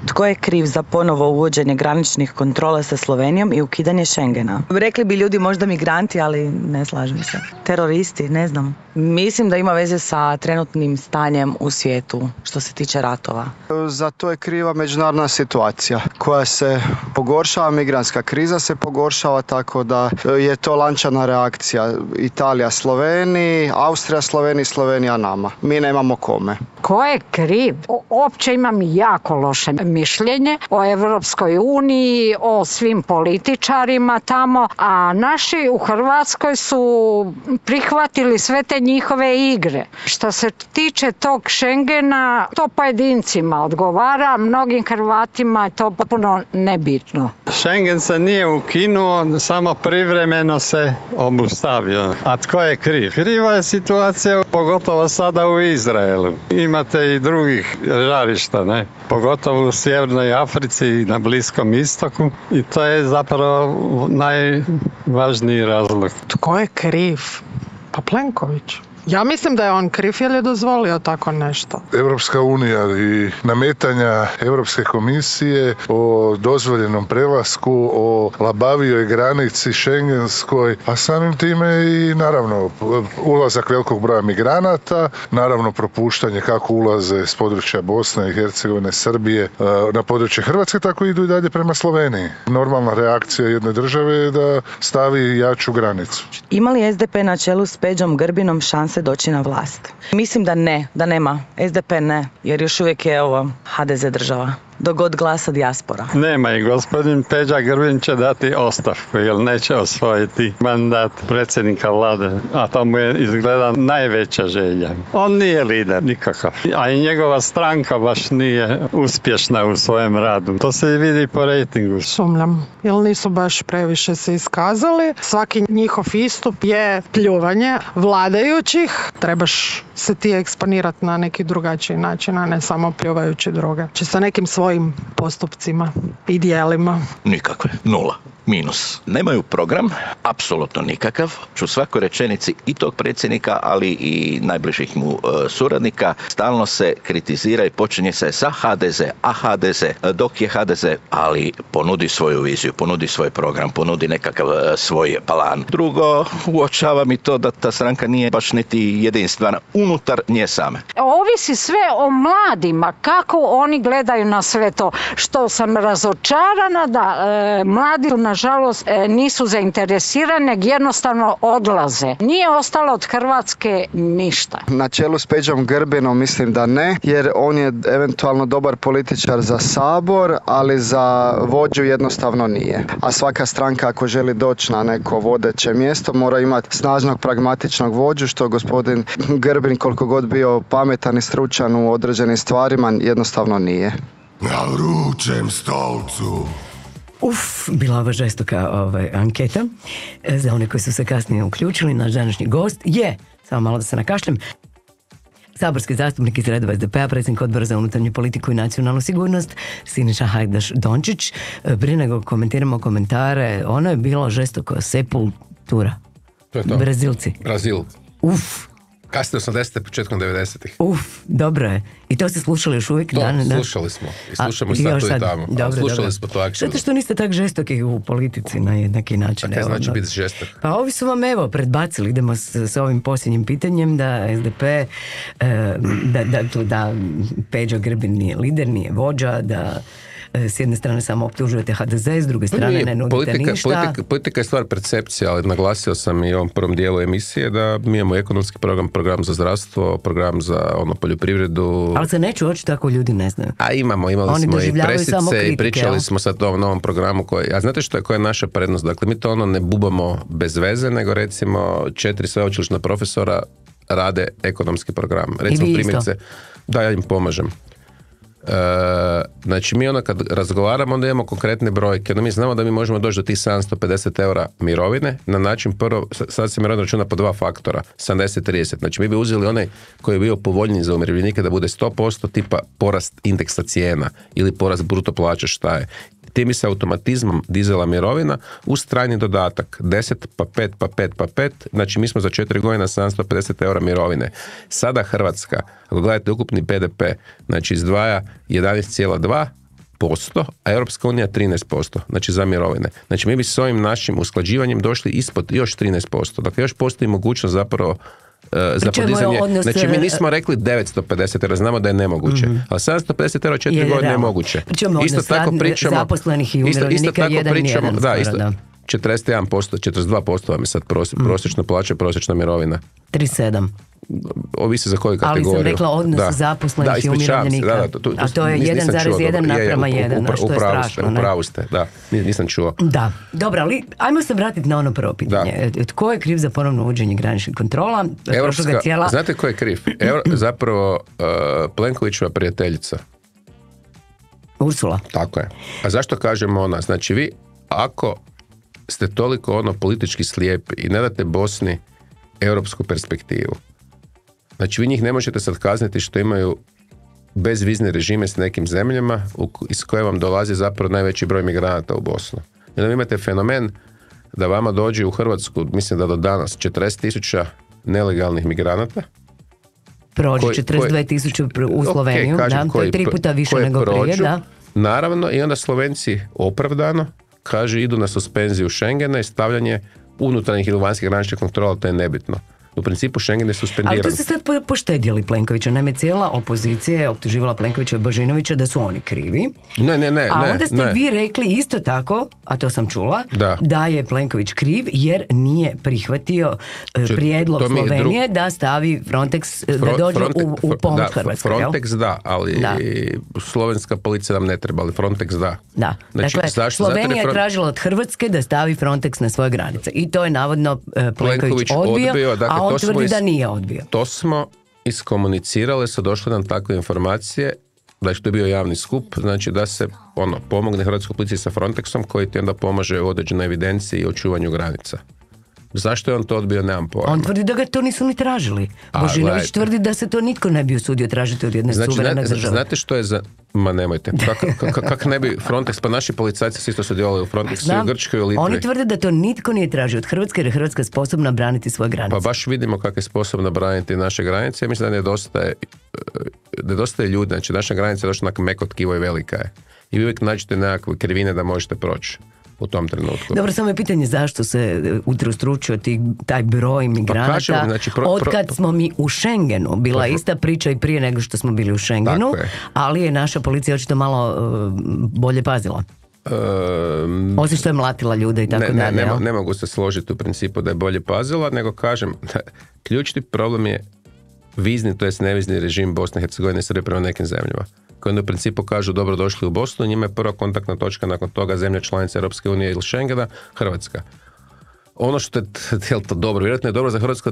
Tko je kriv za ponovo uvođenje graničnih kontrola sa Slovenijom i ukidanje Schengena? Rekli bi ljudi možda migranti, ali ne slažem se. Teroristi, ne znam. Mislim da ima veze sa trenutnim stanjem u svijetu što se tiče ratova. Za to je kriva međunarodna situacija koja se pogoršava, migrantska kriza se pogoršava, tako da je to lančana reakcija. Italija Sloveniji, Austrija Sloveniji, Slovenija nama. Mi nemamo kome. Ko je kriv? Opće imam jako loše mišljenje o Europskoj uniji, o svim političarima tamo, a naši u Hrvatskoj su prihvatili sve te njihove igre. Što se tiče tog Schengena, to pojedincima odgovara, mnogim Hrvatima je to potpuno nebitno. Schengen se nije ukinuo, samo privremeno se obustavio. A tko je kriv? Kriva je situacija, pogotovo sada u Izraelu. Imate i drugih žarišta, ne? Pogotovo u Sjevernoj Africi i na Bliskom istoku. I to je zapravo najvažniji razlog. Tko je kriv? Pa Plenković. Ja mislim da je on kriv jer je dozvolio tako nešto. Europska unija i nametanja Europske komisije o dozvoljenom prelasku, o labavijoj granici šengenskoj, a samim time i naravno ulazak velikog broja migranata, naravno propuštanje kako ulaze s područja Bosne i Hercegovine, Srbije na područje Hrvatske, tako idu i dalje prema Sloveniji. Normalna reakcija jedne države je da stavi jaču granicu. Ima li SDP na čelu s Peđom Grbinom šanse doći na vlast? Mislim da ne, da nema. SDP ne, jer još uvijek je ovo HDZ država. Dok god glasa dijaspora. Nema i gospodin Peđa Grbin će dati ostavku jer neće osvojiti mandat predsjednika vlade, a to mu je izgleda najveća želja. On nije lider nikakav, a i njegova stranka baš nije uspješna u svojem radu. To se i vidi po rejtingu. Sumnjam, jer nisu baš previše se iskazali. Svaki njihov istup je pljuvanje vladajućih. Trebaš se ti eksponirati na neki drugačiji način, a ne samo pljuvajući druge. Či sa nekim svojim postupcima i dijelima. Nikakve, nula. Minus. Nemaju program, apsolutno nikakav. U svakoj rečenici i tog predsjednika, ali i najbližih mu suradnika, stalno se kritizira i počinje se sa HDZ, a HDZ, dok je HDZ, ali ponudi svoju viziju, ponudi svoj program, ponudi nekakav svoj plan. Drugo, uočavam i to da ta stranka nije baš niti jedinstvena unutar nje same. Ovisi sve o mladima, kako oni gledaju na sve to. Što sam razočarana da mladi nažalost nisu zainteresirane, nego jednostavno odlaze. Nije ostalo od Hrvatske ništa. Na čelu s Peđom Grbinom mislim da ne, jer on je eventualno dobar političar za Sabor, ali za vođu jednostavno nije. A svaka stranka ako želi doći na neko vodeće mjesto mora imati snažnog pragmatičnog vođu, što gospodin Grbin koliko god bio pametan i stručan u određenim stvarima jednostavno nije. Na vrućem stolcu. Bila ova žestoka anketa. Za one koji su se kasnije uključili, naš današnji gost je, samo malo da se nakašljem, saborski zastupnik iz redova SDP-a, predsjednik odbora za unutarnju politiku i nacionalnu sigurnost, Siniša Hajdaš Dončić. Prije nego komentiramo komentare, ono je bilo žestoko, sepultura. To je to. Brazilci. Brazil. Kasne 80. početkom 90-ih. Dobro je. I to ste slušali još uvijek? Slušali smo. I slušamo sad tu i tamo. Slušali smo to aktivno. Zato što niste tak žestoki u politici na jednaki način. A kaj znači biti žestok? Pa ovi su vam predbacili, idemo s ovim posljednjim pitanjem, da SDP, da Peđa Grbin nije lider, nije vođa, da s jedne strane samo optužujete HDZ, s druge strane ne nudite ništa. Politika je stvar percepcije, ali naglasio sam i u ovom prvom dijelu emisije da mi imamo ekonomski program za zdravstvo, program za poljoprivredu. Ali se neću očito ako ljudi ne znaju. A imali smo i presice i pričali smo sad o ovom novom programu a znate koja je naša prednost? Dakle, mi to ne bubamo bez veze, nego recimo 4 sveučilišna profesora rade ekonomski program. Recimo primjerice, da ja im pomažem. Znači mi kad razgovaramo onda imamo konkretne brojke, mi znamo da mi možemo doći do tih 750 eura mirovine na način prvo, sad se mirovina računa po 2 faktora, 70-30, znači mi bi uzeli onaj koji je bio povoljniji za umirovljenike da bude 100%, tipa porast indeksa cijena ili porast bruto plaće šta je. Tim bi se automatizmom dizela mirovina uz trajni dodatak 10 pa 5 pa 5 pa 5, znači mi smo za 4 godine 750 eura mirovine. Sada Hrvatska, ako gledate ukupni BDP, znači izdvaja 11,2%, a Europska unija 13%, znači za mirovine. Znači mi bi s ovim našim usklađivanjem došli ispod još 13%, dakle još postoji mogućnost zapravo za podizanje, znači mi nismo rekli 950 jer znamo da je nemoguće, ali 750 euro 4 godine je moguće. Isto tako pričamo, zaposlenih i umirovljenika 1:1. Da, isto, 41%, 42% vam je sad prosječna plaća, prosječna mirovina. 37. Ovisi za koju kategoriju. Ali sam rekla odnos zaposlenih i umirovljenika. A to je 1,1 naprama 1, što je strašno. Upravu ste, da, nisam čuo. Da, dobro, ali ajmo se vratiti na ono prvo pitanje. Tko je kriv za ponovno uvođenje graničnih kontrola? Znate ko je kriv? Zapravo Plenkovićeva prijateljica. Ursula. Tako je. A zašto kažemo ona? Znači vi, ako ste toliko politički slijepi i ne date Bosni europsku perspektivu, znači vi njih ne možete sad kazniti što imaju bezvizne režime s nekim zemljama iz koje vam dolazi zapravo najveći broj migranata u Bosnu. I onda imate fenomen da vama dođe u Hrvatsku, mislim da do danas 40.000 nelegalnih migranata. Prođe 42.000 u Sloveniju, to je 3 puta više nego prije, da. Naravno, i onda Slovenci opravdano kaže idu na suspenziju Schengena i stavljanje unutarnjih ili vanjskih graničnih kontrola, to je nebitno. U principu Schengen je suspendiran. Ali to se sad poštedjeli Plenkovića. Naime, cijela opozicija je optuživala Plenkovića i Božinovića da su oni krivi. A onda ste vi rekli isto tako, a to sam čula, da je Plenković kriv jer nije prihvatio prijedlog Slovenije da stavi Frontex, da dođe u pomoć Hrvatskoj. Frontex da, ali slovenska policija nam ne treba, ali Frontex da. Da, znači, dakle, Slovenija je tražila od Hrvatske da stavi Frontex na svoje granice. I to je navodno Plenković odbio, a on tvrdi da nije odbio. To smo iskomunicirali, su došle nam takve informacije, znači to je bio javni skup, znači da se pomogne Hrvatskoj policiji sa Frontexom koji ti onda pomaže u određenoj evidenciji i očuvanju granica. Zašto je on to odbio, nemam pojma. On tvrdi da ga to nisu ni tražili. Božinović tvrdi da se to nitko ne bi usudio tražiti od jedne suverene države. Znate što je za... Ma nemojte. Kako ne bi Frontex, pa naši policajci su isto sudjelovali u Frontexu i u Grčkoj i u Litvi. Oni tvrde da to nitko nije tražio od Hrvatske jer je Hrvatska sposobna braniti svoje granice. Pa baš vidimo kako je sposobna braniti naše granice. Ja mislim da nedostaje ljudi. Znači naša granica je došla onako meko tkivo i velika je. I vi uvijek nađete nekakve krivine da možete proći u tom trenutku. Dobro, samo je pitanje zašto se utrostručio taj broj migranata. Znači, otkad smo mi u Schengenu, bila ista priča i prije nego što smo bili u Schengenu, ali je naša policija očito malo bolje pazila. Osim što je mlatila ljude i tako dalje. Ne mogu se složiti u principu da je bolje pazila, nego kažem, ključni problem je vizni, to jest nevizni režim Bosne i Hercegovine i Srbije prema nekim zemljama, koji onda u principu kažu dobro došli u Bosnu, njima je prva kontaktna točka nakon toga zemlja članica Europske unije ili Schengena, Hrvatska. Ono što je to dobro, vjerojatno je dobro za Hrvatsku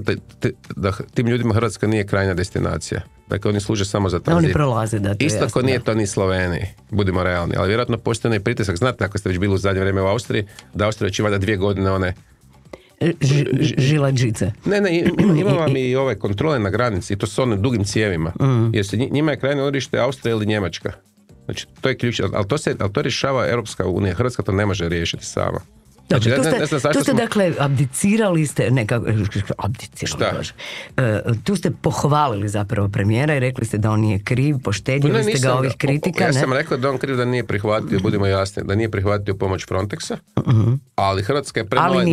da tim ljudima Hrvatska nije krajnja destinacija. Dakle, oni služe samo za tranzit. Oni prolaze, da, to je isto ko nije to ni Sloveniji, budimo realni, ali vjerojatno postoji onaj pritisak, znate ako ste već bili u zadnje vrijeme u Austriji, da Austrija već ima 2 godine one žilađice. Ne, ima vam i ove kontrole na granici i to s onim dugim cijevima. Jer se njima je krajnje odredište Austrija ili Njemačka. Znači, to je ključ, ali to rješava Europska unija. Hrvatska to ne može riješiti sama. Dobro, Znači, tu ste dakle abdicirali ste, abdicirali, tu ste pohvalili zapravo premijera i rekli ste da on nije kriv, poštedjeli ste ga ovih kritika. Ja sam rekao da on kriv da nije prihvatio, budimo jasni, da nije prihvatio pomoć Frontexa, ali Hrvatska je premala,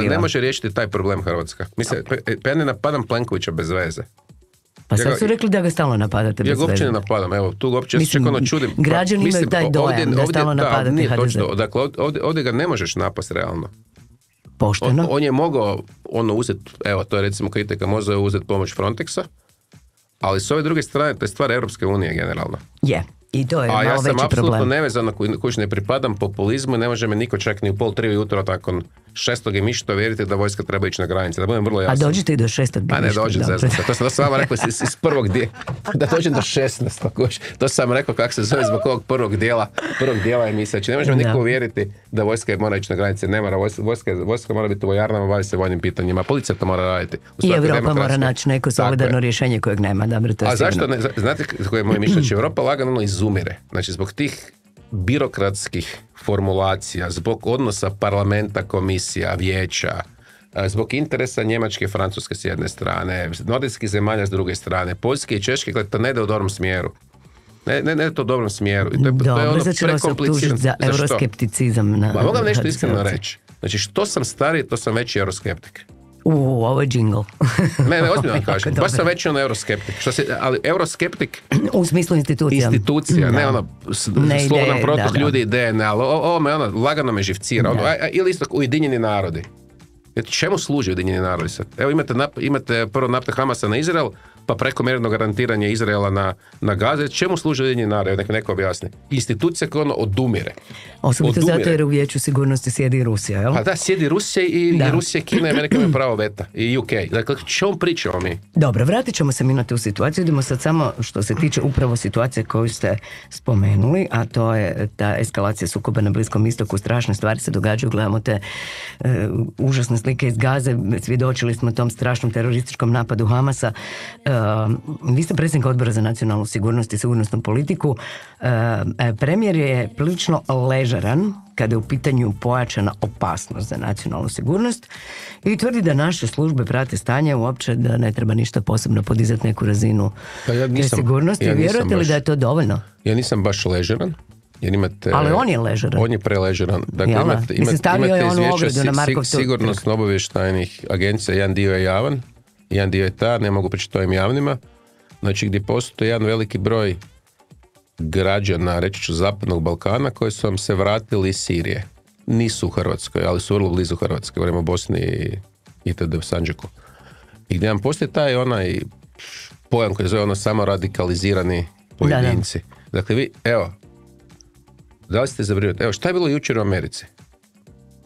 ne može riješiti taj problem Hrvatska. Mislim, ja ne napadam Plenkovića bez veze. Pa sad su rekli da ga stalno napadate bez veze. Ja ga uopće ne napadam, evo, tu uopće se čak ono čudim. Građani imaju taj dojam da stalno napadate nije HDZ. Točno, dakle, ovdje ga ne možeš napast realno. Pošteno. On je mogao uzeti, evo, to je recimo kritika, možda je uzeti pomoć Frontexa, ali s ove druge strane, to je stvar Europske unije generalno. Je. I to je malo veći problem. A ja sam apsolutno nevezan koji ne pripadam populizmu i ne može me niko čak ni u 2:30 jutro nakon 6. mišta vjeriti da vojska treba ići na granice. Da budem vrlo jasan. A dođete i do 6. A ne dođem, to sam vama rekao iz prvog dijela. Da dođem do 16. To sam rekao kako se zove zbog ovog prvog dijela emisije. Znači ne može me niko uvjeriti da vojska mora ići na granice. Ne mora, vojska mora biti u vojarnama, bavi se vojnim pitanjima. Policija to mora raditi. I Europa mora naći neko solidarno rješenje kojeg nema. Dobro, to je a zašto ne? Znate koje je moje mišljenje? Europa lagano izumire. Znači zbog tih birokratskih formulacija, zbog odnosa parlamenta, komisija, vijeća, zbog interesa Njemačke i Francuske s jedne strane, nordijskih zemalja s druge strane, Poljske i Češke, gledaj, to ne ide u dobrom smjeru. Ne to u dobrom smjeru. I to je ono prekomplicirano. Za euroskepticizam. Mogu vam nešto iskreno reći. Znači, što sam stariji, to sam veći euroskeptik. Ovo je džingl. Ne, ozbiljno vam kažem. Baš sam veći euroskeptik. Ali euroskeptik... U smislu institucija. Institucija, ne ono slobodan protok ljudi ideje, ne, ali ovo me lagano me živcira. Ili isto Ujedinjeni narodi. Čemu služi Ujedinjeni narodi sad? Evo imate prvo napad Hamasa na Izrael, pa prekomjerno garantiranje Izraela na Gaze. Čemu služi Ujedinjeni narodi? Nek neko objasni. Institucija koja odumire. Osobito zato jer u Vijeću sigurnosti sjedi Rusija, jel? Pa da, sjedi Rusija i Rusija, Kina i Amerika imaju pravo veta. I UK. Dakle, čemu pričamo mi? Dobro, vratit ćemo se mi na tu situaciju. Idemo sad samo što se tiče upravo situacije koju ste spomenuli, a to je ta eskalacija sukoba na Bliskom istoku. Strašne stvari se događaju. Gledamo te užasne slike iz Gaze. Svjedočili smo tom strašnom terorističkom napadu Hamasa. Vi ste predsjednik Odbora za nacionalnu sigurnost i sigurnosnu politiku. Premijer je prilično ležeran kada je u pitanju pojačana opasnost za nacionalnu sigurnost i tvrdi da naše službe prate stanje, uopće da ne treba ništa posebno podizati neku razinu sigurnosti. Vjerujete li da je to dovoljno? Ja nisam baš ležeran. Ali on je ležeran. On je preležeran. Dakle, imate izvješća sigurnosno-obavještajnih agencija, jedan dio je javan, jedan dio je ne mogu pričati o ovim javnima, znači gdje postoji jedan veliki broj građana, reći ću Zapadnog Balkana, koji su vam se vratili iz Sirije. Nisu u Hrvatskoj, ali su vrlo blizu Hrvatske, govorimo o Bosni i itd. U Sandžaku. I gdje vam postoji taj onaj pojam koji zove samo radikalizirani pojedinci. Dakle, vi, evo, da li ste zabrinuti? Evo, šta je bilo jučer u Americi?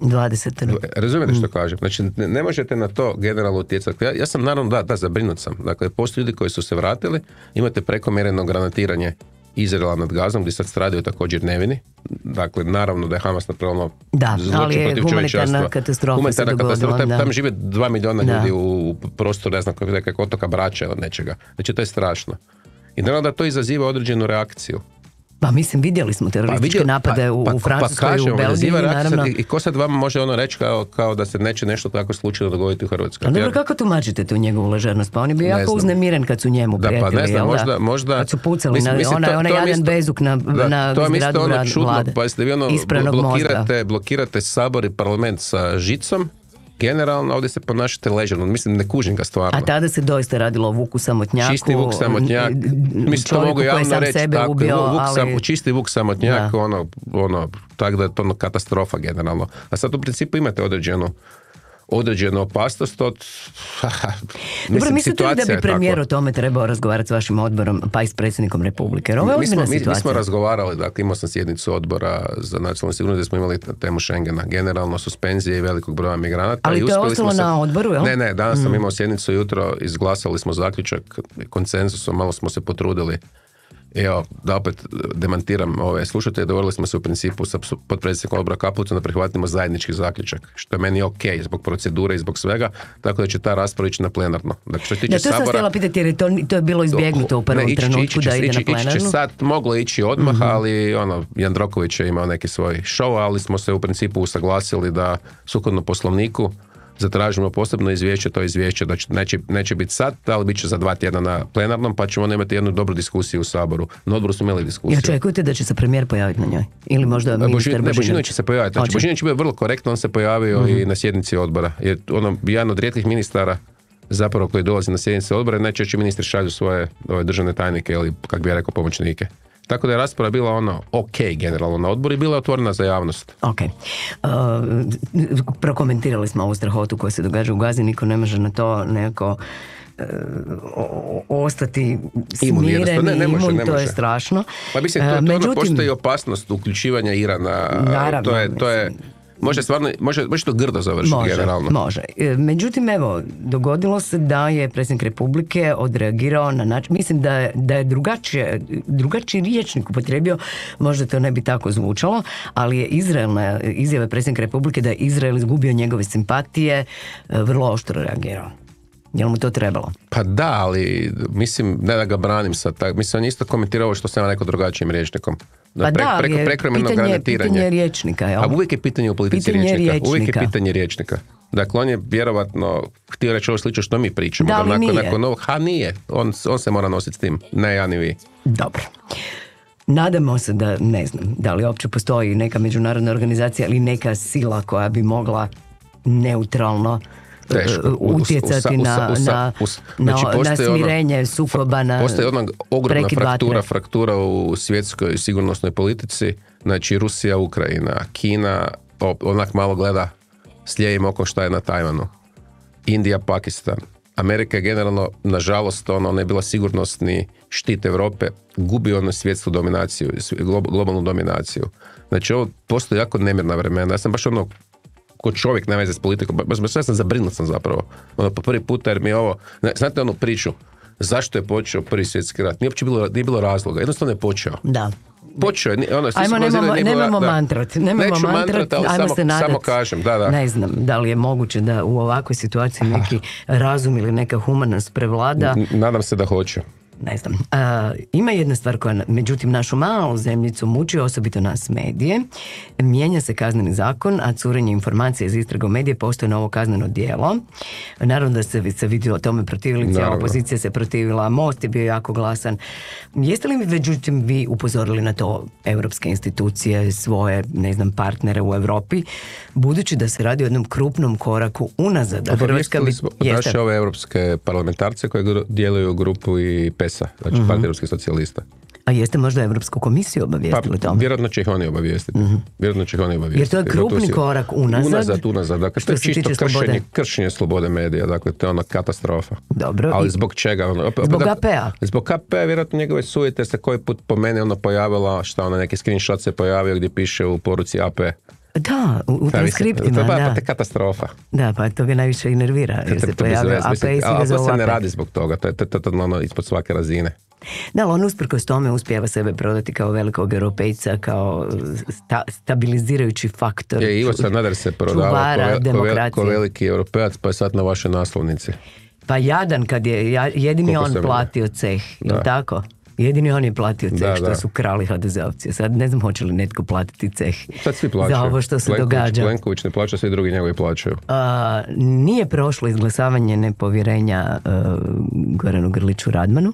20. Razumijete što kažem? Znači, ne možete na to generalno utjecati. Ja sam naravno, zabrinut sam. Dakle, postoje ljudi koji su se vratili, imate prekomjerno granatiranje Izraela nad Gazom, gdje sad stradaju također nevini. Dakle, naravno da je Hamas napravilo zločin protiv čovječanstva. Katastrofa se dogodila. Tam žive 2 milijuna ljudi u prostoru, ne znam kako otoka Brača ili nečega. Znači, to je strašno. I naravno da to izaziva određenu reakciju. Pa mislim, vidjeli smo terorističke napade u Francuskoj i u Belgiji, naravno. I ko sad vama može reći kao da se neće nešto tako slučajno dogoditi u Hrvatskoj? A dobro, kako tumačite tu njegovu ležernost? Pa on je bio jako uznemiren kad su njemu prijetili, jel da? Možda... Kad su pucali onaj jedan bezuk na zgradu vlade. Pa jeste vi blokirate Sabor i parlament sa žicom, generalno ovdje se ponašate ležerno, mislim ne kužim ga stvarno. A tada se doista radilo o Vuku Samotnjaku. Čisti Vuk Samotnjak, mislim to mogu javno reći, tako, čisti Vuk Samotnjak, tako da je to katastrofa generalno. A sad u principu imate određenu opasnost od... Dobro, mislite li da bi premijer o tome trebao razgovarati s vašim odborom, pa i s predsjednikom Republike? Ovo je ozbiljna situacija. Mi smo razgovarali, dakle imao sam sjednicu odbora za nacionalnu sigurnost gdje smo imali temu Schengena, generalno suspenzije i velikog broja migranata. Ali to je ostalo na odboru, jel? Ne, danas sam imao sjednicu jutro, izglasali smo zaključak konsenzusom, malo smo se potrudili Evo, da opet demantiram ove slušatelje, dogovorili smo se u principu sa potpredsjednikom odbora Kapulicom da prihvatimo zajednički zaključak, što je meni ok zbog procedure i zbog svega, tako da će ta rasprava ići na plenarno. Dakle, što se tiče to sam htjela pitati jer to je bilo izbjegnuto u prvom trenutku da ide na plenarnu. Ići će sad, moglo ići odmah, ali Jandroković je imao neki svoj show, ali smo se u principu usaglasili da sukladno Poslovniku zatražimo posebno izvješće, to izvješće da neće biti sad, ali bit će za 2 tjedna na plenarnom, pa ćemo imati jednu dobru diskusiju u Saboru. Na odboru smo imali diskusiju. I očekujete da će se premijer pojaviti na njoj? Ili možda ministar Božinović će se pojaviti. Znači, Božinović je bio vrlo korektno, on se pojavio i na sjednici odbora. Jer jedan od rijetkih ministara zapravo koji dolazi na sjednice odbora, najčešće ministri šalju svoje državne tajnike ili, kako bi ja rekao, pomoćnike. Tako da je rasprava bila ok generalno na odboru i bila je otvorena za javnost. Ok. Prokomentirali smo ovu strahotu koja se događa u Gazi, niko ne može na to nekako ostati smiren i imun, to je strašno. Pa mislim, to postoji opasnost uključivanja Irana. Naravno. To je može to grdo završiti generalno. Može. Međutim, evo, dogodilo se da je predsjednik Republike odreagirao na način, mislim da je drugačiji rječnik upotrijebio, možda to ne bi tako zvučalo, ali je izjava predsjednika Republike da je Izrael izgubio njegove simpatije, vrlo oštro reagirao. Je li mu to trebalo? Pa da, ali mislim, ne da ga branim sad, mislim, on je isto komentirao ovo što sam neko drugačijim rječnikom. Pa pitanje rječnika. A uvijek je pitanje u politici rječnika. Uvijek je pitanje rječnika. Dakle, on je vjerovatno htio reći ovo slično što mi pričamo. Da, ali nije. Nije. On se mora nositi s tim. Ne ja ni vi. Dobro. Nadamo se da, ne znam, da li uopće postoji neka međunarodna organizacija ili neka sila koja bi mogla neutralno utjecati na smirenje sukoba, na postoji ogromna fraktura u svjetskoj sigurnosnoj politici, znači Rusija, Ukrajina, Kina onak malo gleda s lijevim okom šta je na Tajvanu, Indija, Pakistan, Amerika je generalno, nažalost, ona je bila sigurnosni štit Europe, gubi svjetsku dominaciju, globalnu dominaciju. Znači ovo postoji jako nemirna vremena. Ja sam baš ko čovjek ne veze s politikom, baš ja sam zabrinut sam zapravo. Po prvi puta jer mi je ovo, znate onu priču, zašto je počeo Prvi svjetski rat? Nije bilo razloga, jednostavno je počeo. Da. Počeo je, nemamo mantrat, ajmo se nadat. Samo kažem, da. Ne znam, da li je moguće da u ovakvoj situaciji neki razum ili neka humanost prevlada. Nadam se da hoće. Ne znam. Ima jedna stvar koja, međutim, našu malu zemljicu muči, osobito nas medije. Mijenja se kazneni zakon, a curenje informacije iz istraga u medije postoje novo kazneno djelo. Naravno da se vidjelo tome protivili, cijela opozicija se protivila, Most je bio jako glasan. Jeste li međutim vi upozorili na to europske institucije, svoje, ne znam, partnere u Europi, budući da se radi o jednom krupnom koraku unazad? Naše ove europske parlamentarce koje djeluju u grupu i PES-a, znači Partija europskih socijalista. A jeste možda Europsku komisiju obavijestili tome? Vjerojatno će ih oni obavijestiti. Jer to je krupni korak unazad. Dakle, to je čisto kršenje slobode medija. Dakle, to je katastrofa. Dobro. Ali zbog čega? Zbog AP-a? Zbog AP-a, vjerojatno njegove sujete se koji put po meni pojavila, neki screenshot se pojavio gdje piše u poruci AP. Da, u transkriptima, pa te katastrofa. Da, pa to ga najviše i nervira, jer se pojavio AP i si ga zove AP. To se ne radi zbog toga, to je ispod svake razine. Da, on usprkos tome uspijeva sebe prodati kao velikog europejca, kao stabilizirajući faktor. Ivo Sanader se prodava ko veliki europejac, pa je sad na vašoj naslovnici. Pa jadan kad je, jedini on platio ceh, je tako? Jedini on je platio ceh što su krali HDZ-ovci. Sad ne znam hoće li netko platiti ceh za ovo što se događa. Plenković ne plaća, svi drugi njegovi plaćaju. Nije prošlo izglasavanje nepovjerenja Goranu Grliću Radmanu.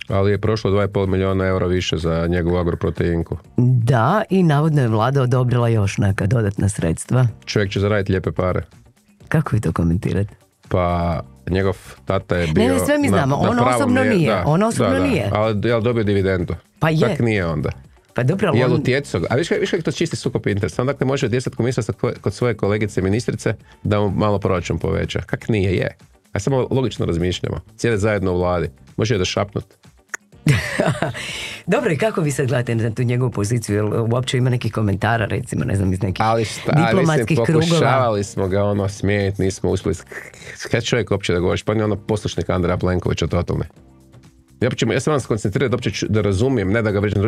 Ali je prošlo 2,5 milijuna eura više za njegovu agroproteinku. Da, i navodno je vlada odobrila još neka dodatna sredstva. Čovjek će zaraditi lijepe pare. Kako vi to komentirate? Pa njegov tata je bio... Ne, sve mi znamo, on osobno nije. On osobno nije. Ali je dobio dividendu. Pa je. Tak nije onda. Pa dobro, ali on... A viš kako to čisti sukob interesa? On dakle može utjecati komisija kod svoje kolegice ministrice da mu malo proračun poveća. Kak nije, je. A samo logično razmišljamo. Sjede zajedno u vladi. Može je da šapnut. Dobro, i kako vi sad gledate na tu njegovu poziciju? Jel uopće ima nekih komentara, recimo, ne znam, iz nekih diplomatskih krugova? Pokušavali smo ga smijeniti, nismo uspjeli. Kada čovjek uopće da govoriš? Pa on je poslušnik Andreja Plenkovića totalni. Ja se moram skoncentrirati da razumijem, ne da ga vređam,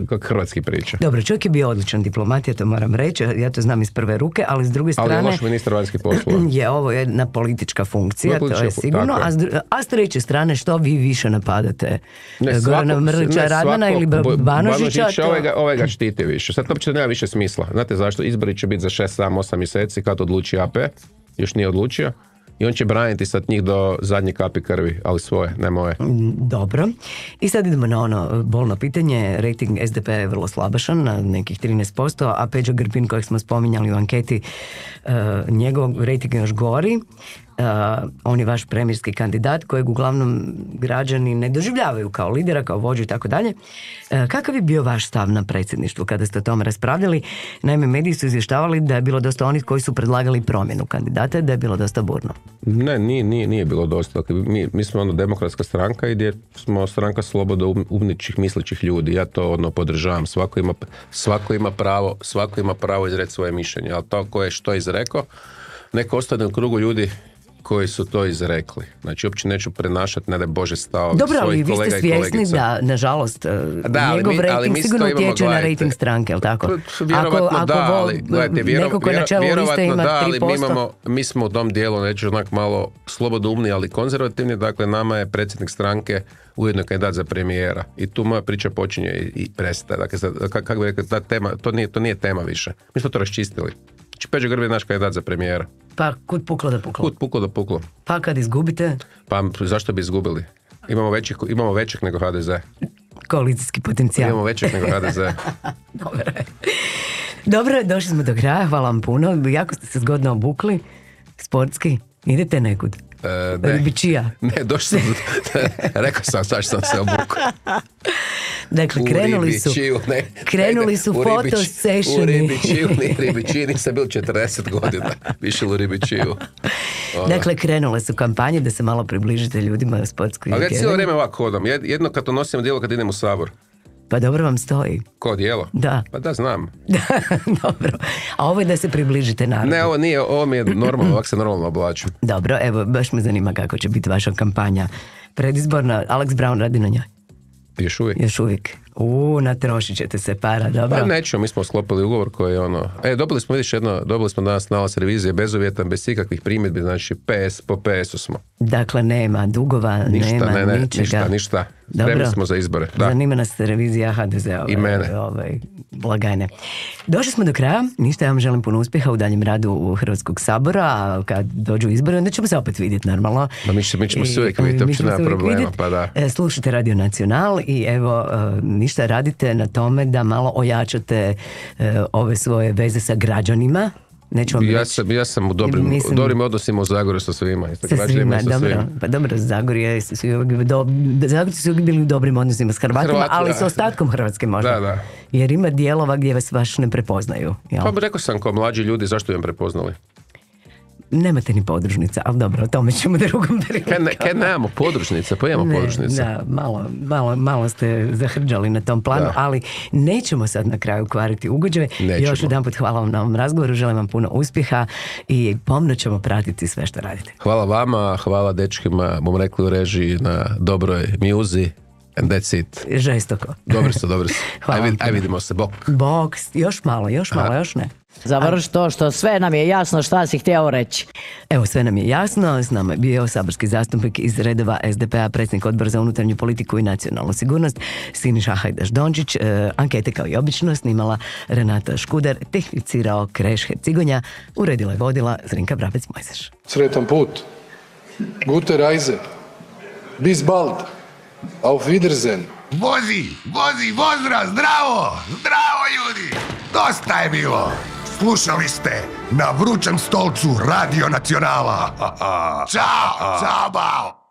kako hrvatski priča. Dobro, čovjek je bio odličan diplomat, ja to moram reći, ja to znam iz prve ruke, ali s druge strane... Ali je loš ministar vanjskih poslova. Je ovo jedna politička funkcija, to je sigurno, a s treće strane, što vi više napadate? Gorana Mrlića Radmana ili Banožića? Ovaj ga štiti više. Sad to uopće nema više smisla. Znate zašto? Izbori će biti za 6, 7, 8 mjeseci kad odluči AP, još nije odlučio. I on će braniti sad njih do zadnje kapi krvi, ali svoje, ne moje. Dobro. I sad idemo na ono bolno pitanje. Rating SDP je vrlo slabašan, na nekih 13%, a Peđa Grbin, kojeg smo spominjali u anketi, njegov rating je još gori. On je vaš premijerski kandidat kojeg uglavnom građani ne doživljavaju kao lidera, kao vođu i tako dalje. Kakav je bio vaš stav na predsjedništvu kada ste o tome raspravljali? Naime, mediji su izvještavali da je bilo dosta onih koji su predlagali promjenu kandidata, da je bilo dosta burno. Ne, nije bilo dosta. Mi smo demokratska stranka i gdje smo stranka slobodoumničih, mislećih ljudi. Ja to podržavam. Svako ima pravo izreći svoje mišljenje, ali to ko je što izrekao, neko ostane u krugu ljudi koji su to izrekli. Znači, uopće neću prenašati, ne da Bože stavovi svojih kolega i kolegica. Dobro, ali vi ste svjesni da, nažalost, njegov rating sigurno utječe na rating stranke, jel tako? Vjerovatno da, ali gledajte, vjerovatno da, ali mi smo u tom dijelu, neću onak malo slobodoumni, ali konzervativni, dakle, nama je predsjednik stranke ujedno kandidat za premijera. I tu moja priča počinje i prestaje. Dakle, kako bi rekao, ta tema, to nije tema više. Mi smo to raščistili. Znači, Peđa Grbin je naš kandidat za premijera. Pa kud puklo da puklo? Kud puklo da puklo. Pa kad izgubite? Pa zašto bi izgubili? Imamo većeg nego HDZ. Koalicijski potencijal. Imamo većeg nego HDZ. Dobro, došli smo do kraja, hvala vam puno. Jako ste se zgodno obukli, sportski. Idete nekud? Ribičija. Ne, došli sam, rekao sam sad što sam se obukao. Dakle, krenuli su foto sessioni. U Ribičiji nisam bil 40 godina, više u Ribičiju. Dakle, krenule su kampanje da se malo približite ljudima u sportskoj. Ali ja cijelo vrijeme ovako hodam, jedno kad to nosim odijelo kad idem u Sabor. Pa dobro vam stoji. Ko odijelo? Da. Pa da, znam. Dobro. A ovo je da se približite narodu. Ne, ovo mi je normalno, ovako se normalno oblačim. Dobro, evo, baš me zanima kako će biti vaša kampanja predizborna. Alex Brown radi na njoj. Još uvijek. Natrošit ćete se para, dobro. Pa nećemo, mi smo sklopili ugovor koji je dobili smo danas nalaz revizije bezuvjetan, bez ikakvih primjedbi, znači po PS-u smo. Dakle, nema dugova, nema ničega. Ništa. Spremni smo za izbore. Da. Zanima nas revizija HDZ-ove. I mene. Blagajne. Došli smo do kraja, ništa, ja vam želim puno uspjeha u daljem radu u Hrvatskog sabora, a kad dođu izbori, onda ćemo se opet vidjeti normalno. Mi ćemo se uvijek vidjeti, uopće nema problema, pa da. Slušajte Radio Nacional i evo, ništa, radite na tome da malo ojačate ove svoje veze sa građanima. Ja sam u dobrim odnosima u Zagorju sa svima. Sa svima, dobro. Pa dobro, Zagorje su uvijek bili u dobrim odnosima s Hrvatima, ali s ostatkom Hrvatske možda. Da. Jer ima dijelova gdje vas baš ne prepoznaju. Jel? Pa rekao sam, kao mlađi ljudi, zašto bi vam prepoznali? Nemate ni podružnica, ali dobro, o tome ćemo drugom prilikom. Kaj nemamo podružnica, pa imamo podružnica. Da, malo ste zahrđali na tom planu, ali nećemo sad na kraju kvariti ugođaj. Još jedanput hvala vam na ovom razgovoru, želim vam puno uspjeha i pomno ćemo pratiti sve što radite. Hvala vama, hvala dečkima, bom rekli u režiji, na dobroj mjuzi. And that's it. Žestoko. Dobri su. Aj vidimo se, bok. Još malo, još ne. Završi to što sve nam je jasno šta si htio reći. Evo, sve nam je jasno. S nama je bio saborski zastupnik iz redova SDP-a, predsjednik Odbora za unutarnju politiku i nacionalnu sigurnost, Siniša Hajdaš-Dončić. Ankete kao i obično snimala Renata Škuder, tehnicirao Kreš Hercigonja, uredila i vodila Zrinka Brabec-Mojseš. Sretan put. Gute Reise. Bis bald. Auf Wiedersehen. Vozi, pozdrav, zdravo ljudi. Dosta je bilo. Slušali ste Na vrućem stolcu Radio Nacionala. Ćao, bao.